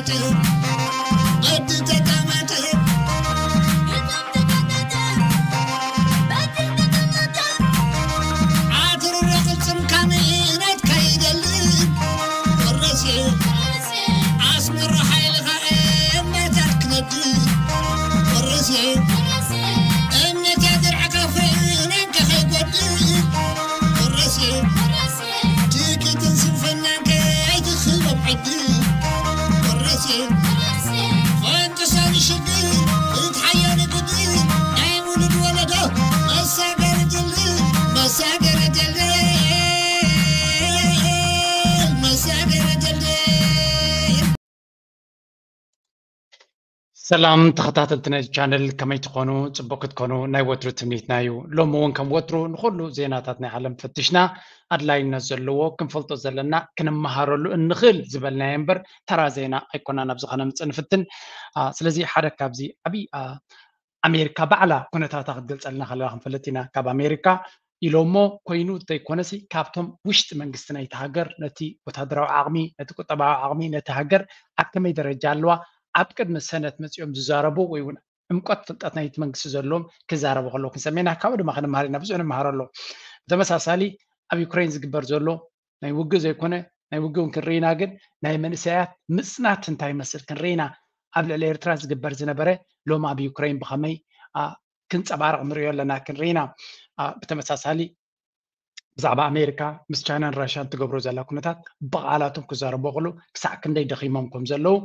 በቲ ተቀመጠ፣ በቲ ተቀመጠ፣ በቲ ተቀመጠ። ዓትርሮ ቅልጽም ካሜናት ከይደሊ። ወረሴ፣ ኣስመራ ሓይልኻ እምነታት ክነዲ። ወረሴ፣ እምነታ ድርዕካ ፍሬናን ከኸይጎዲ። ወረሴ፣ ትኪትን ስንፍናን ከይትኽሎም ዕዲ። ወረሴ፣ ፈንጥሳኒ ሽግር፣ እትሓየኒ ግዲ። ናይ ውሉድ ወለዶ መሳገሪ ድልድል፣ መሳገሪ ድልድል፣ መሳገሪ ድልድል። ሰላም ተኸታተልቲ ናይዚ ቻነል፣ ከመይ ትኾኑ? ጽቡቕ ክትኮኑ ናይ ወትሩ ትምኒትና እዩ። ሎሚ እውን ከም ወትሩ ንኹሉ ዜናታት ናይ ዓለም ፈቲሽና፣ ኣድላይነት ዘለዎ ክንፈልጦ ዘለና፣ ክንመሃረሉ እንኽእል ዝበልናዮ እምበር ተራ ዜና ኣይኮናን ኣብዚ ከነምጽእ ንፍትን። አ፣ ስለዚ ሓደ ካብዚ ዓብዪ፣ አ፣ ኣሜሪካ ባዕላ ኩነታታ ክትገልጸልና ከለላ ክንፈልጥ ኢና። ካብ ኣሜሪካ ኢሎሞ ኮይኑ እንተይኮነሲ ካብቶም ውሽጢ መንግስቲ ናይቲ ሃገር ነቲ ወታደራዊ ዓቕሚ፣ ነቲ ቁጠባዊ ዓቕሚ፣ ነቲ ሃገር ኣብ ከመይ ደረጃ ኣለዋ ኣብ ቅድሚ ሰነት መጺኦም ዝዛረቡ ወይ እውን ዕምቆት ፍልጠት ናይቲ መንግስቲ ዘለዎም ክዛረቡ ከለዉ ክንሰምዕ ኢና። ካብኡ ድማ ክንመሃር ኢና፣ ብዙሕ ንመሃር ኣሎ። ብተመሳሳሊ ኣብ ዩክሬን ዝግበር ዘሎ ናይ ውግእ ዘይኮነ፣ ናይ ውግእ እውን ክንርኢ ኢና፣ ግን ናይ መንእሰያት ምጽናት እንታይ ይመስል ክንርኢ ኢና። ኣብ ልዕሊ ኤርትራ ዝግበር ዝነበረ ሎሚ ኣብ ዩክሬን ብኸመይ፣ አ፣ ክንጸባረቕ ንሪኦ ኣለና፣ ክንርኢ ኢና። አ፣ ብተመሳሳሊ ብዛዕባ ኣሜሪካ ምስ ቻይናን ራሽያን ትገብሮ ዘላ ኩነታት ብቓላቶም ክዛረቡ ከለዉ ክሳዕ ክንደይ ደኺሞም ከም ዘለዉ፣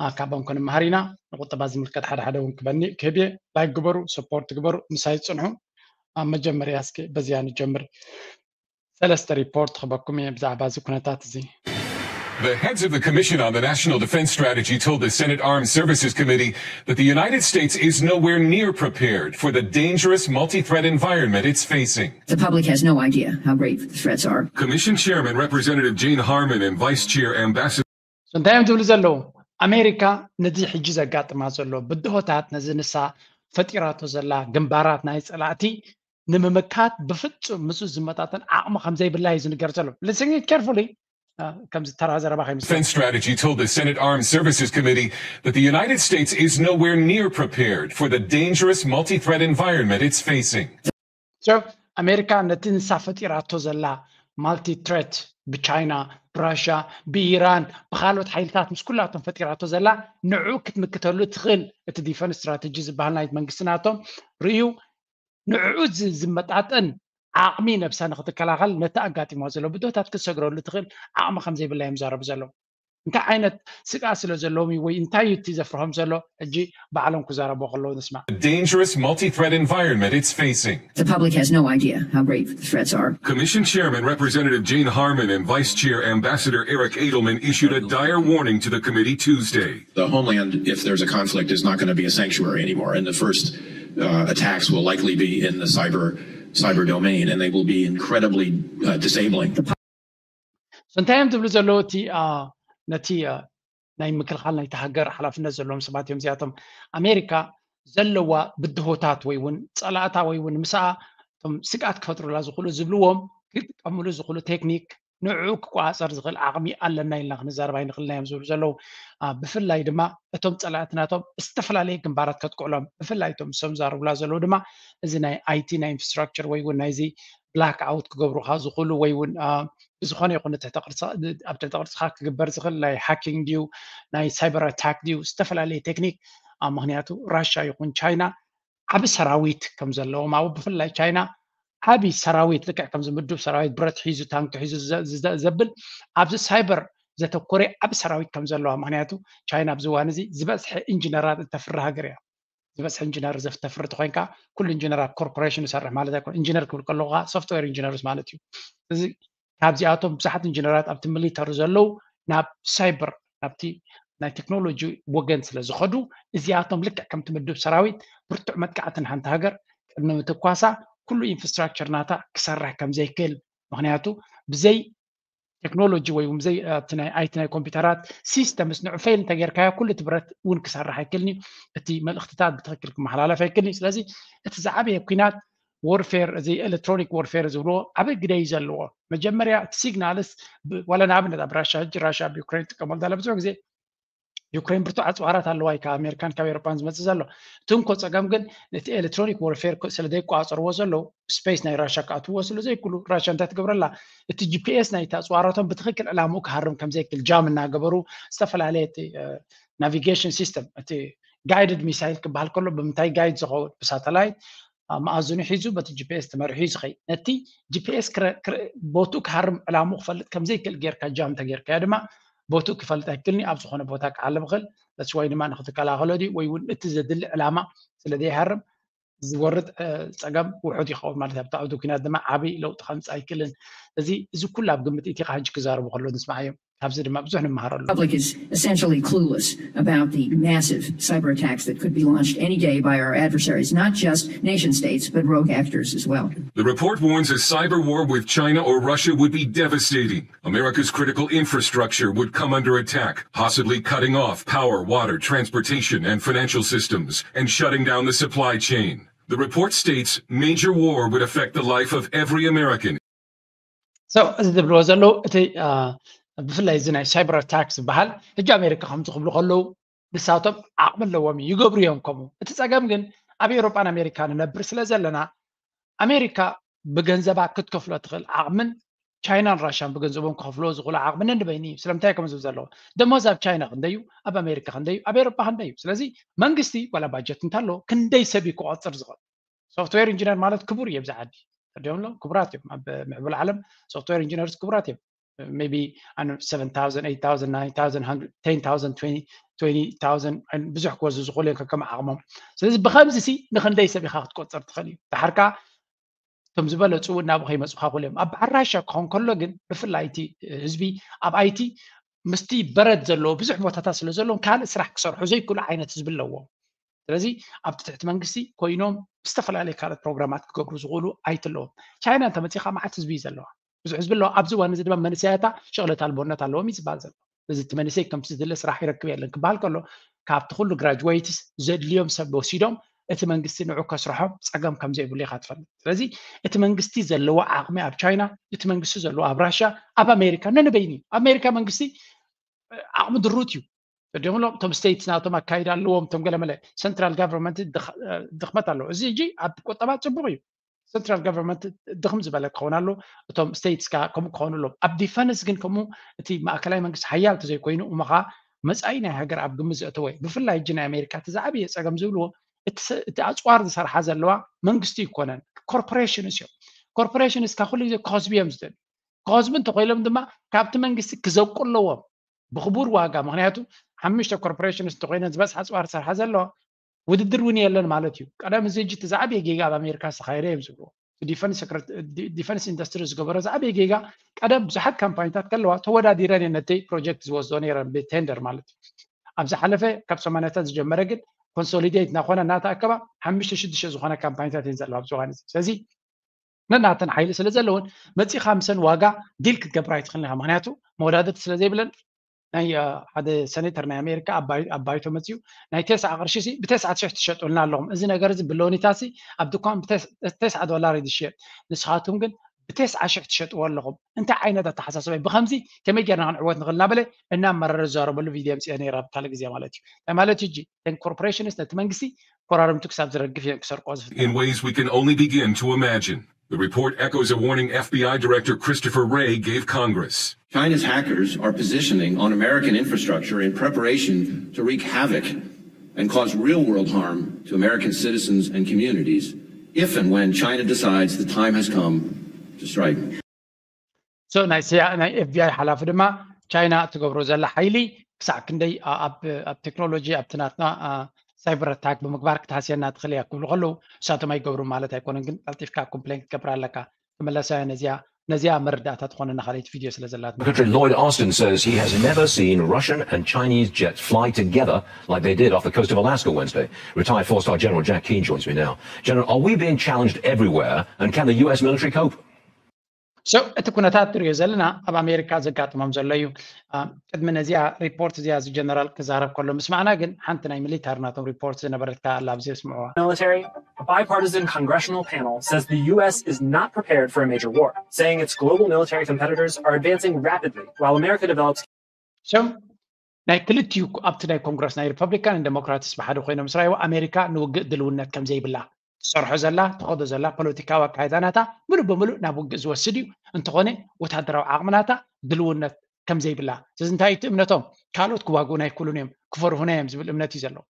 አ፣ ካብኦም ክንመሃር ኢና። ንቁጠባ ዝምልከት ሓደ ሓደ እውን ክበኒ-፣ ክህብ እየ። ላይክ ግበሩ፣ ሰፖርት ግበሩ፣ ምሳይ ጽንሑ። ኣብ መጀመርያ እስኪ በዚኣ ንጀምር። ሰለስተ ሪፖርት ክበኩም እየ ብዛዕባ እዚ ኩነታት እዚ። The heads of the Commission on the National Defense Strategy told the Senate Armed Services Committee that the United States is nowhere near prepared for the dangerous multi-threat environment it's facing. The public has no idea how grave the threats are. Commission Chairman Representative Jane Harman and Vice Chair Ambassador So እንታይ እዮም ዝብሉ ዘለዉ? ኣሜሪካ ነዚ ሕጂ ዘጋጥማ ዘሎ ብድሆታት፣ ነዚ ንሳ ፈጢራቶ ዘላ ግንባራት ናይ ጸላእቲ ንምምካት ብፍጹም ምስኡ ዝመጣጠን ዓቕሚ ከም ዘይብላ እዩ ዝንገር ዘሎ። Listen carefully. አ፣ ከምዚ ተራ ዘረባ ከይምስ- Defense Strategy told the Senate Armed Services Committee that the United States is nowhere near prepared for the dangerous multi-threat environment it's facing. So ኣሜሪካ ነቲ ንሳ ፈጢራቶ ዘላ ማልቲ ትሬት ብቻይና፣ ብራሽያ፣ ብኢራን፣ ብካልኦት ሓይልታት ምስ ኩላቶም ፈጢራቶ ዘላ ንዕኡ ክትምክተሉ ትኽእል እቲ ዲፈንስ ስትራተጂ ዝበሃል ናይ መንግስቲ ናቶም ርእዩ ንዕኡ ዝ-፣ ዝመጣጠን ዓቕሚ ነብሳ ንክትከላኸል ነቲ ኣጋጢሞ ዘሎ ብድሆታት ክትሰግረሉ ትኽእል ዓቕሚ ከም ዘይብላ እዮም ዛረቡ ዘለዉ። እንታይ ዓይነት ስግኣት ስለ ዘለዎም እዩ ወይ እንታይ እዩ እቲ ዘፍርሆም ዘሎ? ሕጂ ባዕሎም ክዛረቡ ከለዉ ንስማዕ። The dangerous multi-threat environment it's facing. The public has no idea how grave the threats are. Commission Chairman Representative Jane Harman and Vice Chair Ambassador Eric Edelman issued a dire warning to the committee Tuesday. The homeland, if there's a conflict, is not gonna be a sanctuary anymore. And the first, uh, attacks will likely be in the cyber, cyber domain, and they will be incredibly, uh, disabling. So እንታይ እዮም ዝብሉ ዘለዉ? እቲ፣ አ፣ ነቲ፣ አ፣ ናይ ምክልኻል ናይቲ ሃገር ሓላፍነት ዘለዎም ሰባት እዮም እዚኣቶም። ኣሜሪካ ዘለዋ ብድሆታት ወይ እውን ጸላእታ ወይ እውን ምስኣ እቶም ስግኣት ክፈጥሩላ ዝኽእሉ ዝብልዎም ክጥቀምሉ ዝኽእሉ ቴክኒክ ንዕኡ ክቆጻጸር ዝኽእል ዓቕሚ ኣለና ኢልና ክንዛረብ ኣይንኽእልን እዮም ዝብሉ ዘለዉ። አ፣ ብፍላይ ድማ እቶም ጸላእቲ ናቶም ዝተፈላለየ ግንባራት ከጥቅዑሎም፣ ብፍላይ እቶም ንሶም ዝዛረቡላ ዘለዉ ድማ እዚ ናይ ኣይ ቲ ናይ ኢንፍራስትራክቸር ወይ እውን ናይዚ ብላክ ኣውት ክገብሩኻ ዝኽእሉ ወይ እውን፣ አ፣ ብዝኾነ ይኹን ትሕተ ቅርጽ-፣ ኣብ ትሕተ ቅርጽኻ ክግበር ዝኽእል ናይ ሃኪንግ ድዩ፣ ናይ ሳይበር ኣታክ ድዩ፣ ዝተፈላለየ ቴክኒክ። አ፣ ምኽንያቱ ራሽያ ይኹን ቻይና ዓቢ ሰራዊት ከም ዘለዎም፣ ኣብ ብፍላይ ቻይና ዓቢ ሰራዊት፣ ልክዕ ከምዚ ምዱብ ሰራዊት ብረት ሒዙ፣ ታንኪ ሒዙ ዘ-፣ ዘ-፣ ዘብል ኣብዚ ሳይበር ዘተኮረ ዓቢ ሰራዊት ከም ዘለዋ። ምኽንያቱ ቻይና ኣብዚ እዋን እዚ ዝበዝሐ ኢንጂነራት እተፍሪ ሃገር እያ። ዝበዝሐ ኢንጂነር ዘፍ-፣ ተፍሪ ተኾይንካ፣ ኩሉ ኢንጂነር ኣብ ኮርፖሬሽን ይሰርሕ ማለት ኣይኮነ። ኢንጂነር ክብል ከለኹ ኸኣ ሶፍትዌር ኢንጂነርስ ማለት እዩ። እዚ ካብዚኣቶም ብዙሓት ኢንጂነራት ኣብቲ ሚሊተሪ ዘለዉ ናብ ሳይበር፣ ናብቲ ናይ ቴክኖሎጂ ወገን ስለ ዝኸዱ፣ እዚኣቶም ልክዕ ከምቲ ምዱብ ሰራዊት ብርቱዕ መጥቃዕቲ ንሓንቲ ሃገር ቅድሚ ምትኳሳ ኩሉ ኢንፍራስትራክቸር ናታ ክሰርሕ ከም ዘይክእል፣ ምኽንያቱ ብዘይ ቴክኖሎጂ ወይ እውን ብዘይ፣ ኣብቲ ናይ ኣይ ቲ ናይ ኮምፒውተራት ሲስተምስ ንዑ ፌል እንተጌርካዮ ኩሉ እቲ ብረት እውን ክሰርሕ ኣይክእልን እዩ። እቲ መልእኽትታት ብትኽክል ክመሓላለፍ ኣይክእልን እዩ። ስለዚ እቲ ዝዓበየ ኲናት ወርፌር፣ እዚ ኤሌክትሮኒክ ወርፌር ዝብልዎ ዓቢ ግደ እዩ ዘለዎ። መጀመርያ እቲ ሲግናልስ ብ-፣ ዋላ ንኣብነት ኣብ ራሻ፣ ሕጂ ራሻ ኣብ ዩክሬን ትጥቀመሉ ዘላ ብዙሕ ግዜ ዩክሬን ብርቱዕ ኣፅዋራት ኣለዋ እዩ ካብ ኣሜሪካን ካብ ኤሮፓን ዝመፅእ ዘሎ። እቲ እንኮ ፀገም ግን ነቲ ኤሌክትሮኒክ ዎርፌር ስለ ዘይቆፃፀርዎ ዘለዉ ስፔስ ናይ ራሻ ክኣትውዎ ስለ ዘይክሉ ራሻ እንታይ ትገብረላ? እቲ ጂፒኤስ ናይቲ ኣፅዋራቶም ብትክክል ዕላምኡ ክሃርም ከም ዘይክል ጃም እናገበሩ ዝተፈላለየ እቲ ናቪጌሽን ሲስተም እቲ ጋይድድ ሚሳይል ክበሃል ከሎ ብምንታይ ጋይድ ዝኸውን ብሳተላይት መኣዝኑ ሒዙ በቲ ጂፒኤስ ተመሪሑ እዩ ዝኸይድ። ነቲ ጂፒኤስ ቦትኡ ክሃርም ዕላምኡ ክፈልጥ ከም ዘይክእል ጌርካ ጃም ተጌርካዮ ድማ ቦትኡ ክፈልጥ ኣይክልኒ ኣብ ዝኾነ ቦታ ክዓልብ ይኽእል። በቲ ወይ ድማ ንክትከላኸሎ ድዩ ወይ እውን እቲ ዘድሊ ዕላማ ስለ ዘይሃርም ዝወርድ እ፣ ፀገም ውሑድ ይኸውን ማለት እዩ። ኣብቲ ዓውዲ ኩናት ድማ ዓብይ ለውጢ ከምፅእ ኣይክልን። እዚ እዚ ኩሉ ኣብ ግምት እቲ ካሕጂ ክዛረቡ ከለዉ ንስማዓዮም። ካብዚ ድማ ብዙሕ ንምሃረሉ። Public is essentially clueless about the massive cyber attacks that could be launched any day by our adversaries, not just nation states, but rogue actors as well. The report warns a cyber war with China or Russia would be devastating. America's critical infrastructure would come under attack, possibly cutting off power, water, transportation, and financial systems, and shutting down the supply chain. The report states major war would affect the life of every American. So እዚ ዝብልዎ ዘለዉ እቲ ብፍላይ እዚ ናይ ሳይበር ኣታክ ዝበሃል ሕጂ ኣሜሪካ ከምዚ ክብሉ ከለዉ ንሳቶም ዓቕሚ ኣለዎም እዩ ይገብሩ እዮም። ከምኡ እቲ ፀገም ግን ኣብ ኤውሮጳን ኣሜሪካ ንነብር ስለ ዘለና ኣሜሪካ ብገንዘባ ክትከፍሎ ትኽእል ዓቕምን ቻይናን ራሻን ብገንዘቦም ክኸፍልዎ ዝኽእሉ ዓቕሚ ነንበይኒ እዩ። ስለምንታይ ከም ዝብል ዘለዎ ደሞዝ ኣብ ቻይና ክንደዩ ኣብ ኣሜሪካ ክንደዩ ኣብ ኤውሮጳ ክንደዩ። ስለዚ መንግስቲ ዋላ ባጀት እንተሎ ክንደይ ሰብ እዩ ክቆፅር ዝኽእል? ሶፍትዌር ኢንጂነር ማለት ክቡር እዩ ኣብዚ ዓዲ ተዲዮምሎ ክቡራት እዮም ኣብ ምዕቡል ዓለም። ሶፍትዌር ኢንጂነርስ ክቡራት እዮም። Maybe ኣነ seven thousand, eight thousand, nine thousand, ten thousand, twenty thousand ብዙሕ ክወዙ ዝኽእሉ እዮም ከከም ዓቕሞም። ስለዚ ብከምዚ ሲ ንክንደይ ሰብ ኢካ ክትቆፅር ትኽእል እዩ? ድሓር ከዓ እቶም ዝበለፁ እውን ናብኡ ከይመፁካ ክእሉ እዮም። ኣብ በዓል ራሻ ክኸውን ከሎ ግን ብፍላይ እቲ ህዝቢ ኣብ ኣይቲ ምስቲ በረድ ዘለዎ ብዙሕ ቦታታት ስለ ዘለዎም ካልእ ስራሕ ክሰርሑ ዘይክእሉ ዓይነት ህዝቢ ኣለዎም። ስለዚ ኣብቲ ትሕቲ መንግስቲ ኮይኖም ዝተፈላለዩ ካልኦት ፕሮግራማት ክገብሩ ዝኽእሉ ኣይትለዎም። ቻይና እንተመፂኻ መዓት ህዝቢ እዩ ዘለዋ፣ ብዙሕ ህዝቢ ኣለዋ። ኣብዚ እዋን እዚ ድማ መንእሰያታ ሽቕለት ኣልቦነት ኣለዎም እዩ ዝበሃል ዘሎ። እዚ እቲ መንእሰይ ከምቲ ዝድለ ስራሕ ይረክብ የለን ክበሃል ከሎ ካብቲ ኩሉ ግራጅዌይትስ ዘድልዮም ሰብ ወሲዶም እቲ መንግስቲ ንዑ ከስርሖም ፀገም ከም ዘይብሉ ኢካ ትፈልጥ። ስለዚ እቲ መንግስቲ ዘለዎ ዓቕሚ ኣብ ቻይና፣ እቲ መንግስቲ ዘለዎ ኣብ ራሽያ፣ ኣብ ኣሜሪካ ነንበይኒ እዩ። ኣሜሪካ መንግስቲ ዓቕሚ ድሩት እዩ። ተዲምሎም እቶም ስቴትስ ናቶም ኣካይዳ ኣለዎም እቶም ገለመለ ሰንትራል ጋቨርንመንት ድኽመት ኣለዎ። እዚ ሕጂ ኣብ ቁጠባ ፅቡቅ እዩ። ሰንትራል ጋቨርንመንት ድኽም ዝበለ ክኸውን ኣሎ። እቶም ስቴትስ ከዓ ከምኡ ክኸውን ኣለዎም። ኣብ ዲፈንስ ግን ከምኡ እቲ ማእከላይ መንግስቲ ሓያል ተዘይኮይኑ እሞ ከዓ መፃኢ ናይ ሃገር ኣብ ግምት ዘእተወ እዩ። ብፍላይ ሕጂ ናይ ኣሜሪካ እቲ ዝዓበየ ፀገም ዝብልዎ እቲ ኣፅዋር ዝሰርሓ ዘለዋ መንግስቲ ይኮነን፣ ኮርፖሬሽንስ እዮም። ኮርፖሬሽንስ ካብ ኩሉ ግዜ ክኸስቡ እዮም ዝደልዩ። ክኸስቡ እንተኮይሎም ድማ ካብቲ መንግስቲ ክዘቁ ኣለዎም ብክቡር ዋጋ። ምክንያቱ ሓሙሽተ ኮርፖሬሽንስ እንተኮይነን ዝበዝሓ ኣፅዋር ዝሰርሓ ዘለዋ ውድድር እውን የለን ማለት እዩ። ቀደም እዚ ሕጂ እቲ ዝዓበየ ጌጋ ኣብ ኣሜሪካ ዝተካየደ እዮም ዝብልዎ። ዲፈንስ ኢንዱስትሪ ዝገበሮ ዝዓበየ ጌጋ ቀደም ብዙሓት ካምፓኒታት ከለዋ ተወዳዲረን እየን ነተይ ፕሮጀክት ዝወስዶ ነይረን ብቴንደር ማለት እዩ። ኣብ ዝሓለፈ ካብ ሰማንያታት ዝጀመረ ግን ኮንሶሊዴት እናኮነ እናተኣከባ ሓሙሽተ ሽዱሽተ ዝኾነ ካምፓኒታት እየን ዘለዋ ኣብዚ እዋን እዚ። ስለዚ ነናተን ሓይሊ ስለ ዘለውን መፂኻ ምሰን ዋጋ ዲል ክትገብር ኣይትኽእልን ኢኻ። ምክንያቱ መወዳደርቲ ስለ ዘይብለን ናይ ሓደ ሴኔተር ናይ ኣሜሪካ ኣብ ባይቶ መፅኡ ናይ ተስዓ ቅርሺ ሲ ብተስዓ ሽሕ ትሸጡልና ኣለኹም። እዚ ነገር እዚ ብሎኒታ ሲ ኣብ ድኳን ብተስዓ ዶላር እዩ ዝሽየጥ። ንስኻትኩም ግን ብተስዓ ሽሕ ትሸጥዎ ኣለኹም። እንታይ ዓይነት ኣተሓሳስባ እዩ? ብከምዚ ከመይ ጌርና ክንዕወት ንኽእል እናበለ እናመረረ ዝዛረበሉ ቪድዮ ኣምፅኦ ነይረ ኣብ ካልእ ግዜ ማለት እዩ። እንታይ ማለት እዩ? እጂ ኮርፖሬሽንስ ነቲ መንግስቲ ኮራርምቱ ክሳብ ዝረግፍ እዮም ክሰርቆ ዝፍትኑ። In ways we can only begin to imagine. The report echoes a warning F B I Director Christopher Wray gave Congress. China's hackers are positioning on American infrastructure in preparation to wreak havoc and cause real world harm to American citizens and communities if and when China decides the time has come to strike. So ናይ ኤፍቢኣይ ሓላፊ ድማ ቻይና ትገብሮ ዘላ ሓይሊ ክሳዕ ክንደይ ኣብ ቴክኖሎጂ ኣብቲ ናትና ሳይበር ኣታክ ብምግባር ክትሃስየና ትኽእል እያ ክብሉ ከለዉ ንሳቶም ኣይገብሩ ማለት ኣይኮነን። ግን ቀልጢፍካ ኮምፕሌን ክትገብር ኣለካ። ክመለሳ እያ ነዚኣ ነዚኣ መረዳእታ ትኾነና ካልኣይቲ ቪድዮ ስለ ዘላትና። Secretary Lloyd Austin says he has never seen Russian and Chinese jets fly together like they did off the coast of Alaska Wednesday. Retired four-star General Jack Keane joins me now. General, are we being challenged everywhere, and can the U S military cope? So እቲ ኩነታት ትሪኦ ዘለና ኣብ ኣሜሪካ ዘጋጥሞም ዘሎ እዩ። ቅድሚ ነዚኣ ሪፖርት እዚኣ እዚ ጀነራል ክዛረብ ከሎ ምስማዕና ግን ሓንቲ ናይ ሚሊታር ናቶም ሪፖርት ዝነበረትካ ኣላ ኣብዚ ስምዕዋ። Military, a bipartisan congressional panel says the U S is not prepared for a major war, saying its global military competitors are advancing rapidly while America develops ሽም ናይ ክልቲኡ ኣብቲ ናይ ኮንግረስ ናይ ሪፐብሊካን ዴሞክራትስ ብሓደ ኮይኖም ስራይዎ ኣሜሪካ ንውግእ ድልውነት ከም ዘይብላ ትሰርሖ ዘላ ትኸዶ ዘላ ፖለቲካዊ ኣካይዳ ናታ ምሉእ ብምሉእ ናብ ውግእ ዝወስድ እዩ። እንተኾነ ወታደራዊ ዓቕሚ ናታ ድልውነት ከም ዘይብላ እዚ እንታይ እቲ እምነቶም ካልኦት ክዋግኡና ኣይክእሉን እዮም ክፈርሁና እዮም ዝብል እምነት እዩ ዘለዎ።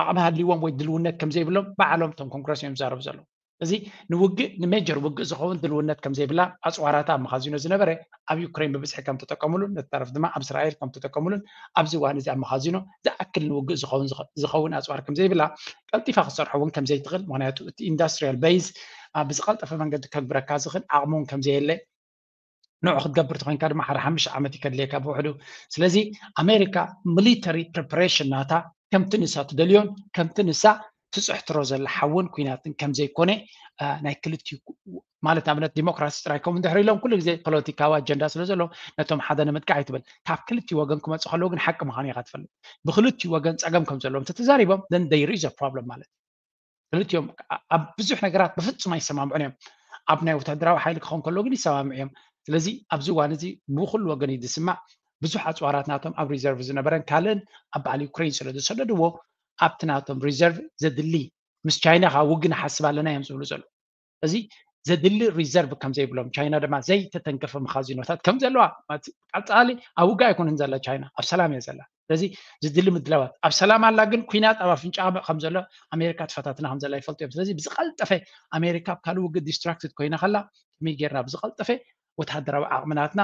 ዓቕሚ ሃልይዎም ወይ ድልውነት ከም ዘይብሎም ባዕሎም እቶም ኮንግረስ እዮም ዝዛረቡ ዘለዉ። እዚ ንውግእ ንሜጀር ውግእ ዝኸውን ድልውነት ከም ዘይብላ ኣፅዋራታ ኣብ መኻዚኖ ዝነበረ ኣብ ዩክሬን ብብዝሒ ከም ተጠቀሙሉን ነተረፍ ድማ ኣብ እስራኤል ከም ተጠቀሙሉን ኣብዚ እዋን እዚ ኣብ መኻዚኖ ዝኣክል ንውግእ ዝኸውን ዝኸውን ኣፅዋር ከም ዘይብላ ቀልጢፋ ክትሰርሖ እውን ከም ዘይትኽእል ምክንያቱ እቲ ኢንዳስትሪያል ቤዝ ብዝቀልጠፈ መንገዲ ከግብረካ ዝኽእል ዓቕሚ እውን ከም ዘየለ ንዑ ክትገብር ተኮንካ ድማ ሓደ ሓሙሽተ ዓመት ይከድልየካ ብውሕዱ። ስለዚ ኣሜሪካ ሚሊተሪ ፕሪፓሬሽን ናታ ከምቲ ንሳ ትደልዮን ከምቲ ንሳ ትፅሕትሮ ዘላ ሓውን ኩናትን ከም ዘይኮነ ናይ ክልቲኡ ማለት ኣብነት ዲሞክራሲ ጥራይ ከም እንድሕር ኢሎም ኩሉ ግዜ ፖለቲካዊ ኣጀንዳ ስለ ዘሎ ነቶም ሓደ ንምጥቃዕ ይትብል ካብ ክልቲ ወገን ክመፁ ከለዉ ግን ሓቂ ምዃኑ ኢኻ ትፈልጥ ብክልቲ ወገን ፀገም ከም ዘለዎም ተተዛሪቦም then there is problem ማለት ክልቲኦም ኣብ ብዙሕ ነገራት ብፍፁም ኣይሰማምዑን እዮም ኣብ ናይ ወታደራዊ ሓይሊ ክኸውን ከሎ ግን ይሰማምዑ እዮም ስለዚ ኣብዚ እዋን እዚ ብኩሉ ወገን እዩ ዝስማዕ ብዙሕ ኣፅዋራት ናቶም ኣብ ሪዘርቭ ዝነበረን ካልእን ኣብ በዓል ዩክሬን ስለ ዝሰደድዎ ኣብቲ ናቶም ሪዘርቭ ዘድሊ ምስ ቻይና ከዓ ውግእ ንሓስብ ኣለና እዮም ዝብሉ ዘለዉ እዚ ዘድሊ ሪዘርቭ ከም ዘይብሎም ቻይና ድማ ዘይተተንከፈ መኻዚኖታት ከም ዘለዋ ቀፃሊ ኣብ ውግእ ኣይኮነን ዘላ ቻይና ኣብ ሰላም እያ ዘላ ስለዚ ዝድሊ ምድላዋት ኣብ ሰላም ኣላ ግን ኩናት ኣብ ኣፍንጫ ከም ዘሎ ኣሜሪካ ትፈታትና ከም ዘላ ይፈልጡ እዮም ስለዚ ብዝቀልጠፈ ኣሜሪካ ኣብ ካልእ ውግእ ዲስትራክትድ ኮይና ከላ ከመይ ጌርና ብዝቀልጠፈ ወታደራዊ ዓቕምናትና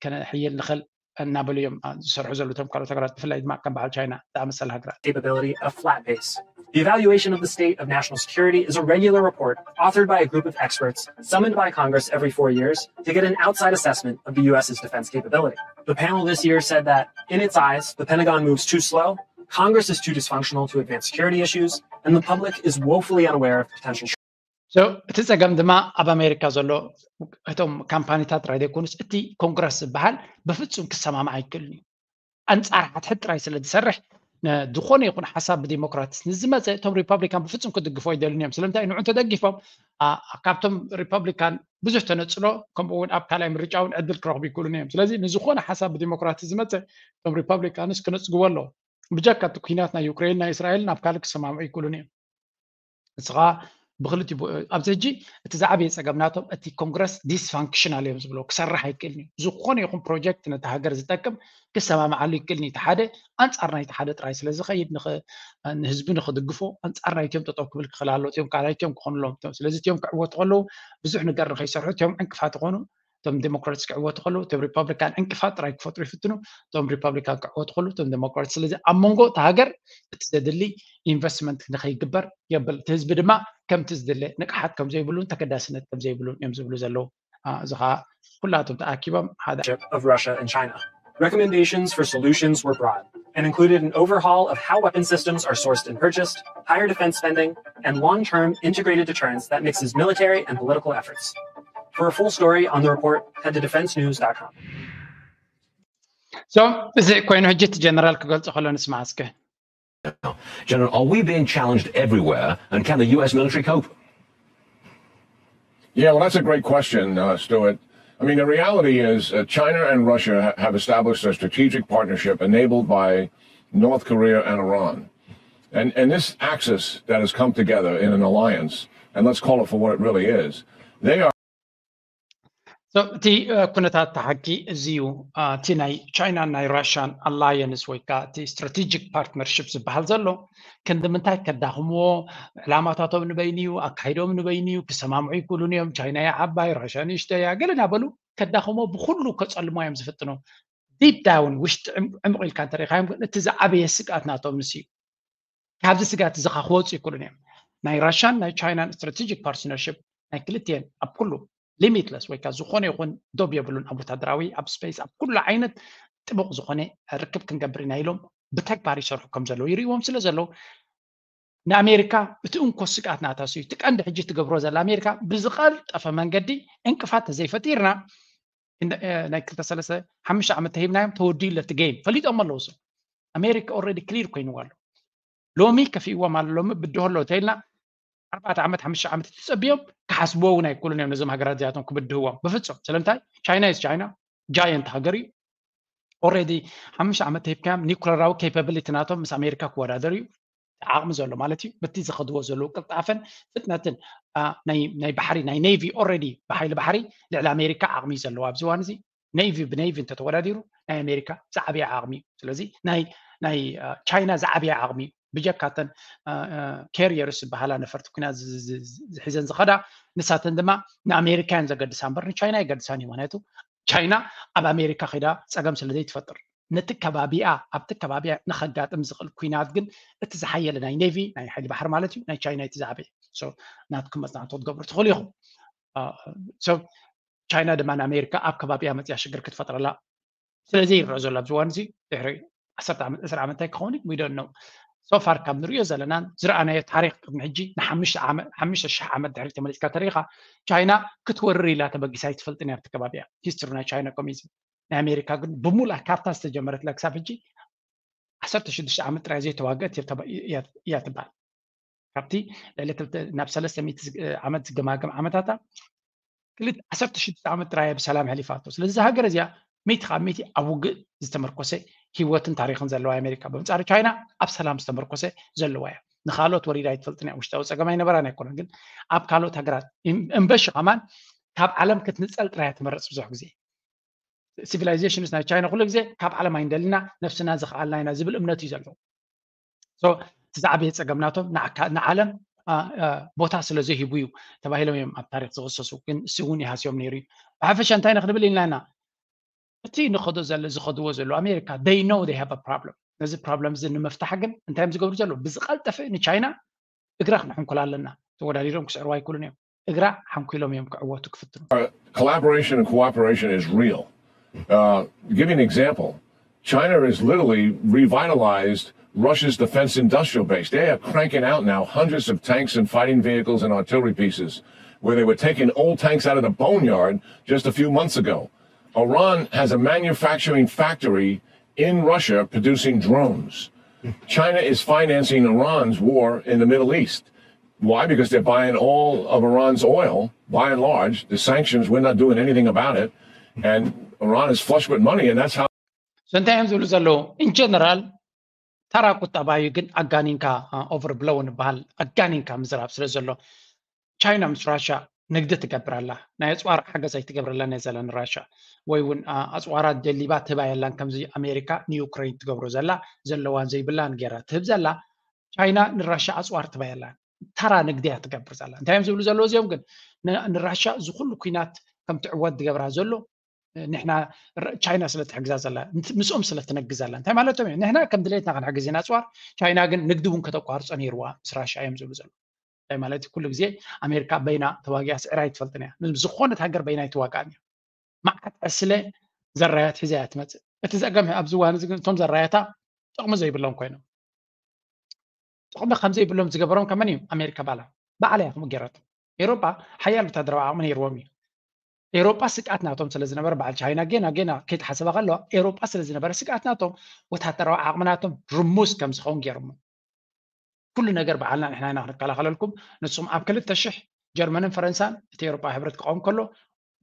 ከነሕይል ንኽእል እናበሉ እዮም ዝሰርሑ ዘለዉ እቶም ካልኦት ሃገራት ብፍላይ ድማ ከም በዓል ቻይና ዝኣመሰለ ሃገራት capability of flat base. The evaluation of the state of national security is a regular report authored by a group of experts summoned by Congress every four years to get an outside assessment of the U S's defense capability. The panel this year said that, in its eyes, the Pentagon moves too slow, Congress is too dysfunctional to advance security issues, and the public is woefully unaware of potential እቲ ፀገም ድማ ኣብ ኣሜሪካ ዘሎ እቶም ካምፓኒታት ጥራይ ዘይኮኑስ እቲ ኮንግረስ ዝበሃል ብፍፁም ክሰማማዕ ኣይክእልን እዩ ኣንፃር ሓድሕድ ጥራይ ስለ ዝሰርሕ ዝኾነ ይኹን ሓሳብ ብዲሞክራትስ ንዝመፀ እቶም ሪፐብሊካን ብፍፁም ክድግፎ ኣይደልን እዮም ስለምንታይ ንዑ እንተደጊፎም ካብቶም ሪፐብሊካን ብዙሕ ተነፅሎ ከምኡ እውን ኣብ ካልኣይ ምርጫ እውን ዕድል ክረኽቡ ይክእሉን እዮም ስለዚ ንዝኾነ ሓሳብ ብዲሞክራትስ ዝመፀ እቶም ሪፐብሊካንስ ክነፅግዎ ኣለዎ ብጀካ እቲ ኩናት ናይ ዩክሬን ናይ እስራኤል ናብ ካልእ ክሰማምዑ ይክእሉን እዮም ንስኻ ብክልቲ ኣብዚ ሕጂ እቲ ዝዓበየ ፀገም ናቶም እቲ ኮንግረስ ዲስፋንክሽናል እዮም ዝብሎ ክሰርሕ ኣይክእልን እዩ ዝኾነ ይኹን ፕሮጀክት ነቲ ሃገር ዝጠቅም ክሰማምዓሉ ይክእልን እቲ ሓደ ኣንፃር ናይቲ ሓደ ጥራይ ስለ ዝኸይድ ንህዝቢ ንክድግፎ ኣንፃር ናይትዮም ጠጠው ክብል ክኽእል ኣሎ እትዮም ካልኣይትዮም ክኾኑሎም ስለዚ እትዮም ክዕወቱ ከለዉ ብዙሕ ነገር ንከይሰርሑ እትዮም ዕንቅፋት ይኾኑ እቶም ዴሞክራትስ ክዕወቱ ከለዉ እቶም ሪፐብሊካን ዕንቅፋት ጥራይ ክፈጥሩ ይፍትኑ እቶም ሪፐብሊካን ክዕወቱ ከለዉ እቶም ዴሞክራትስ ስለዚ ኣብ መንጎ እቲ ሃገር እቲ ዘድሊ ኢንቨስትመንት ንከይግበር የብል እቲ ህዝቢ ድማ ከምቲ ዝድለ ንቅሓት ከም ዘይብሉን ተገዳስነት ከም ዘይብሉን እዮም ዝብሉ ዘለዉ እዚ ከዓ ኩላቶም ተኣኪቦም ሓደ of Russia and China. Recommendations for solutions were broad and included an overhaul of how weapon systems are sourced and purchased, higher defense spending, and long term integrated deterrence that mixes military and political efforts. For a full story on the report, head to defensenews.com. So, እዚ ኮይኑ ሕጂ እቲ ጀነራል ክገልጾ ከሎ ንስማዕ እስከ General, are we being challenged everywhere, and can the U S military cope? Yeah, well, that's a great question, uh, Stuart. I mean, the reality is uh, China and Russia ha- have established a strategic partnership enabled by North Korea and Iran. And, and this axis that has come together in an alliance, and let's call it for what it really is, they are So, እቲ ኩነታት ተሓቂ እዚ እዩ እቲ ናይ ቻይናን ናይ ራሽያን ኣላየንስ ወይ ከዓ እቲ ስትራቴጂክ ፓርትነርሽፕ ዝበሃል ዘሎ ክንዲ ምንታይ ከዳኽምዎ ዕላማታቶም ንበይኑ እዩ ኣካይዶም ንበይኑ እዩ ክሰማምዑ ይክእሉን እዮም ቻይና እያ ዓባይ ራሽያ ንእሽተይ እያ ገለ እናበሉ ከዳኽምዎ ብኩሉ ከፀልሞ እዮም ዝፍትኑ ዲፕ ዳውን ውሽጢ ዕምቕ ኢልካ እንተሪኢኻዮም ግን እቲ ዝዓበየ ስግኣት ናቶም ንሱ እዩ ካብዚ ስጋት እዚ ክወፁ ይክእሉን እዮም ናይ ራሽያን ናይ ቻይናን ስትራቴጂክ ፓርትነርሽፕ ናይ ክልቲኤን ኣብ ኩሉ ሊሚትለስ ወይ ከዓ ዝኾነ ይኹን ዶብ የብሉን ኣብ ወታደራዊ ኣብ ስፔስ ኣብ ኩሉ ዓይነት ጥቡቕ ዝኾነ ርክብ ክንገብር ኢና ኢሎም ብተግባር ይሰርሑ ከም ዘለዉ ይርእዎም ስለ ዘለዉ ንኣሜሪካ እቲ እንኮ ስግኣት ናታ እዩ እቲ ቀንዲ ሕጂ ትገብሮ ዘላ ኣሜሪካ ብዝቐልጠፈ መንገዲ እንቅፋት ተዘይፈጢርና ናይ ክልተ ሰለስተ ሓሙሽተ ዓመት ተሂብናዮም ተወዲኡ ለቲ ጌም ፈሊጦም ኣለዉ ሶ ኣሜሪካ ኦረዲ ክሊር ኮይንዋ ኣሎ ሎሚ ከፊእዎም ኣሎ ሎሚ ብድሆ ኣሎ ተኢልና ኣርባዕተ ዓመት ሓሙሽተ ዓመት ተፀቢዮም ክሓስብዎ እውን ኣይክእሉን እዮም ነዞም ሃገራት እዚኣቶም ክብድህዎም ብፍፁም ስለምንታይ ቻይና ስ ቻይና ጃየንት ሃገር እዩ already ሓሙሽተ ዓመት ተሂብካዮም ኒኩለራዊ capability ናቶም ምስ ኣሜሪካ ክወዳደር እዩ ዓቕሚ ዘሎ ማለት እዩ። በቲ ዝኸድዎ ዘለዉ ቅልጣፈን ፍጥነትን ናይ ባሕሪ ናይ navy already ብሓይሊ ባሕሪ ልዕሊ ኣሜሪካ ዓቕሚ እዩ ዘለዎ ኣብዚ እዋን እዚ navy ብ navy እንተተወዳዲሩ ናይ ኣሜሪካ ዝዓበየ ዓቕሚ እዩ። ስለዚ ናይ ቻይና ዝዓበየ ዓቕሚ እዩ። ብጀካተን carriers ዝበሃላ ነፈርቲ ኩናት ዝሒዘን ዝኸዳ ንሳተን ድማ ንኣሜሪካ እየን ዘገድሳ እምበር ንቻይና የገድሳን እዩ። ምክንያቱ ቻይና ኣብ ኣሜሪካ ከይዳ ፀገም ስለ ዘይትፈጥር ነቲ ከባቢኣ ኣብቲ ከባቢኣ ንኸጋጥም ዝኽእል ኩናት ግን እቲ ዝሓየለ ናይ navy ናይ ሓይሊ ባሕሪ ማለት እዩ ናይ ቻይና እቲ ዝዓበየ። ናትኩም መፅናዕቲ ክትገብሩ ትኽእሉ ኢኹም። ቻይና ድማ ንኣሜሪካ ኣብ ከባቢኣ መፅያ ሽግር ክትፈጥረላ ስለዚ ይረአ ዘሎ ኣብዚ እዋን እዚ ድሕሪ ዓሰርተ ዓመት ዕስራ ዓመት እንታይ ክኸውን we don't know። So far ካብ ንሪኦ ዘለናን ዝረኣናዮ ታሪክ ቅድሚ ሕጂ ንሓሙሽተ ሽሕ ዓመት ድሕሪ ተመሊስካ ተሪኢኻ ቻይና ክትወርር ኢላ ተበጊሳ ኣይትፈልጥን ኣብቲ ከባቢያ history ናይ ቻይና communism ናይ ኣሜሪካ ግን ብሙሉእ ካርታ ዝተጀመረትላ ክሳብ ሕጂ ዓሰርተ ሽዱሽተ ዓመት ጥራይ ዘይተዋገት እያ ትበሃል። ካብቲ ልዕሊ ናብ ሰለስተ ሚእቲ ዓመት ዝገማገም ዓመታታ ክልተ ዓሰርተ ሽዱሽተ ዓመት ጥራይ ብሰላም ሕሊፋቶ። ስለዚ እዛ ሃገር እዚኣ ሚእቲ ካብ ሚእቲ ኣብ ውግእ ዝተመርኮሰ ህይወትን ታሪክን ዘለዋ ኣሜሪካ ብምጻሪ ቻይና ኣብ ሰላም ዝተመርኮሰ ዘለዋ እያ። ንካልኦት ወሪዳ ኣይትፈልጥን እያ። ውሽጣዊ ጸገም ኣይነበራን ኣይኮነን፣ ግን ኣብ ካልኦት ሃገራት እምበሺ ከማን ካብ ዓለም ክትንጸል ጥራይ እያ ትመርጽ ብዙሕ ግዜ። Civilizations ናይ ቻይና ኩሉ ግዜ ካብ ዓለም ኣይንደልና ነብስና ዝኸኣልና ኢና ዝብል እምነት እዩ ዘለዎ። እቲ ዝዓበየ ጸገም ናቶም ንዓለም ቦታ ስለ ዘይሂቡ እዩ ተባሂሎም እዮም ኣብ ታሪክ ዝኽሰሱ። ግን እሱ እውን ይሃስዮም ነይሩ እዩ። ብሓፈሻ እንታይ ንክንብል ኢልና ኢና እቲ ንኸዶ ዘለ ዝኸድዎ ዘሎ ኣሜሪካ they know they have problem። ነዚ problem እዚ ንምፍታሕ ግን እንታይ እዮም ዝገብሩ ዘለዉ? ብዝቐልጠፈ ንቻይና እግራ ክንሕንኩላ ኣለና። ተወዳዲሮም ክስዕርዋ ኣይክእሉን እዮም። እግራ ሓንኩሎም እዮም ክዕወቱ ክፍትኑ። Collaboration and cooperation is real. Uh, give you an example. China has literally revitalized Russia's defense industrial base. They are cranking out now hundreds of tanks and fighting vehicles and artillery pieces where they were taking old tanks out of the boneyard just a few months ago. Iran has a manufacturing factory in Russia producing drones. China is financing Iran's war in the Middle East. Why? Because they're buying all of Iran's oil, by and large. The sanctions, we're not doing anything about it. And Iran is flush with money, and that's how. So እንታይ እዮም ዝብሉ ዘለዉ? In general ተራ ቁጠባ እዩ፣ ግን ኣጋኒንካ overblown ይበሃል፣ ኣጋኒንካ ምዝራብ ስለ ዘሎ ቻይና ምስ ራሻ ንግዲ ትገብር ኣላ። ናይ ኣፅዋር ሓገዝ ኣይትገብረላን እያ ዘላ ንራሻ፣ ወይ እውን ኣፅዋራት ደሊባ ትህባ የላን። ከምዚ ኣሜሪካ ንዩክሬን ትገብሮ ዘላ ዘለዋን ዘይብላን ገይራ ትህብ ዘላ ቻይና ንራሻ ኣፅዋር ትህባ የላን። ተራ ንግዲ እያ ትገብር ዘላ። እንታይ እዮም ዝብሉ ዘለዉ እዚኦም ግን ንራሻ እዚ ኩሉ ኩናት ከም ትዕወት ዝገብራ ዘሎ ንሕና ቻይና ስለ ትሕግዛ ዘላ ምስኦም ስለ ትነግዝ ኣላ እንታይ ማለቶም እዮም? ንሕና ከም ድሌትና ክንሕግዝ ኢና ኣፅዋር፣ ቻይና ግን ንግዲ እውን ከተቋርፆ ነይርዋ ምስ ራሻ እዮም ዝብሉ ዘለዉ። እንታይ ማለት እዩ? ኩሉ ግዜ ኣሜሪካ በይና ተዋጊኣ ስዒራ ኣይትፈልጥን እያ። ምስ ዝኾነት ሃገር በይና ኣይትዋጋእን እያ። መዓት ዕስለ ዘራያት ሒዛ እያ ትመፅእ። እቲ ዘገም ኣብዚ እዋን እዚ ግን እቶም ዘራያታ ጥቕሚ ዘይብሎም ኮይኖም ጥቕሚ ከም ዘይብሎም ዝገበሮም ከመን እዩ? ኣሜሪካ ባላ ባዕላ እያ ከምኡ ገይራቶ። ኤሮጳ ሓያል ወታደራዊ ዓቕሚ ነይርዎም እዩ። ኤሮጳ ስግኣት ናቶም ስለ ዝነበረ በዓል ቻይና ጌና ጌና ከይተሓሰባ ከለዋ ኤሮጳ ስለ ዝነበረ ስግኣት ናቶም ወታደራዊ ዓቕሚ ናቶም ርሙስ ከም ዝኸውን ገይሮሞ። ኩሉ ነገር በዓልና ንሕና ኢና ክንከላኸለልኩም፣ ንስኹም ኣብ ክልተ ሽሕ ጀርመንን ፈረንሳን እቲ ኤሮጳ ሕብረት ክቐውም ከሎ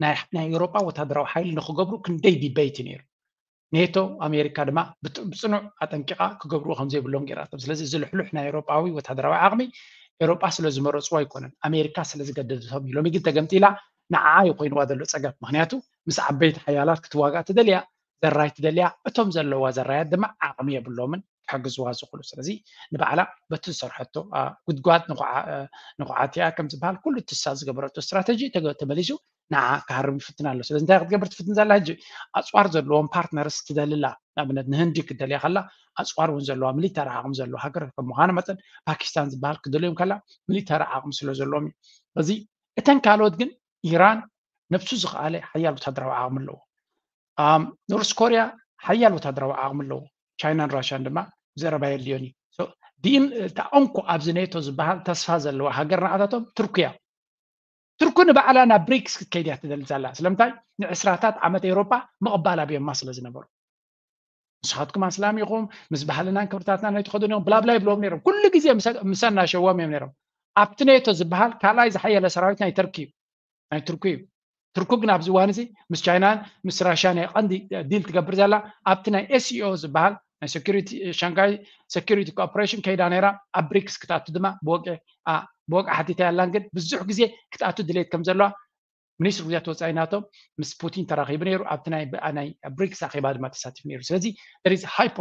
ናይ ኤሮጳ ወታደራዊ ሓይሊ ንክገብሩ ክንደይ ዲበይቲ ነይሩ። ኔቶ ኣሜሪካ ድማ ብፅኑዕ ኣጠንቂቓ ክገብርዎ ከም ዘይብሎም ገይራቶም። ስለዚ እዚ ልሕሉሕ ናይ ኤሮጳዊ ወታደራዊ ዓቕሚ ኤሮጳ ስለ ዝመረፅዎ ኣይኮነን፣ ኣሜሪካ ስለ ዝገደደቶም እዩ። ሎሚ ግን ተገምጢላ ንዓዓ እዩ ኮይንዋ ዘሎ ፀገም። ምክንያቱ ምስ ዓበይቲ ሓያላት ክትዋጋእ ትደልያ ዘራይ ትደልያ፣ እቶም ዘለዋ ዘራያት ድማ ዓቕሚ የብሎምን ክሕግዝዋ ዝኽእሉ። ስለዚ ንባዕላ በቲ ዝሰርሐቶ ጉድጓድ ንኹዓት እያ ከም ዝበሃል ኩሉ ትሳ ዝገበረቶ ስትራተጂ ተመሊሱ ንዓ ክሃርም ይፍትን ኣሎ። ስለዚ እንታይ ክትገብር ትፍትን ዘላ ሕጂ? ኣፅዋር ዘለዎም ፓርትነርስ ትደልላ። ንኣብነት ንህንዲ ክትደልያ ከላ ኣፅዋር እውን ዘለዋ ሚሊተሪ ዓቕሚ ዘለዋ ሃገር ከም ምዃኑ መጠን ፓኪስታን ዝበሃል ክደልዮም ከላ ሚሊተሪ ዓቕሚ ስለ ዘለዎም እዩ። ስለዚ እተን ካልኦት ግን ኢራን ነብሱ ዝኸኣለ ሓያል ወታደራዊ ዓቕሚ ኣለዎ። ኖርስ ኮርያ ሓያል ወታደራዊ ዓቕሚ ኣለዎ። ቻይናን ራሽያን ድማ ዘረባ የድልዮን እዩ። ዲን እታ እንኮ ኣብዚ ኔቶ ዝበሃል ተስፋ ዘለዋ ሃገር ንዓታቶም ትርኩ እያ። ትርኩ ንባዕላ ናብ ብሪክስ ክትከይድ እያ ትደሊ ዘላ። ስለምንታይ? ንዕስራታት ዓመት ኤውሮጳ ምቕባል ኣብዮማ ስለ ዝነበሩ። ንስኻትኩም ኣስላም ኢኹም፣ ምስ ባህልናን ክብርታትናን ኣይትኸዱን ኢኹም፣ ብላብላ ይብልዎም ነይሮም። ኩሉ ግዜ ምሰ እናሸዎም እዮም ነይሮም። ኣብቲ ኔቶ ዝበሃል ካልኣይ ዝሓየለ ሰራዊት ናይ ተርኪ እዩ፣ ናይ ትርኩ እዩ። ትርኩ ግን ኣብዚ እዋን እዚ ምስ ቻይናን ምስ ራሽያን ናይ ቀንዲ ዲል ትገብር ዘላ ኣብቲ ናይ ኤስሲኦ ዝበሃል ናይ ሴኩሪቲ ሻንጋይ ሴኩሪቲ ኮኦፕሬሽን ከይዳ ነይራ። ኣብ ብሪክስ ክትኣቱ ድማ ብወግዒ ሓቲታ ያላን ግን ብዙሕ ግዜ ክትኣቱ ድሌት ከም ዘለዋ ሚኒስትሪ ጉዳያት ወፃኢ ናቶም ምስ ፑቲን ተራኺቡ ነይሩ። ኣብቲ ናይ ብሪክስ ኣኼባ ድማ ተሳቲፉ ነይሩ። ስለዚ there is high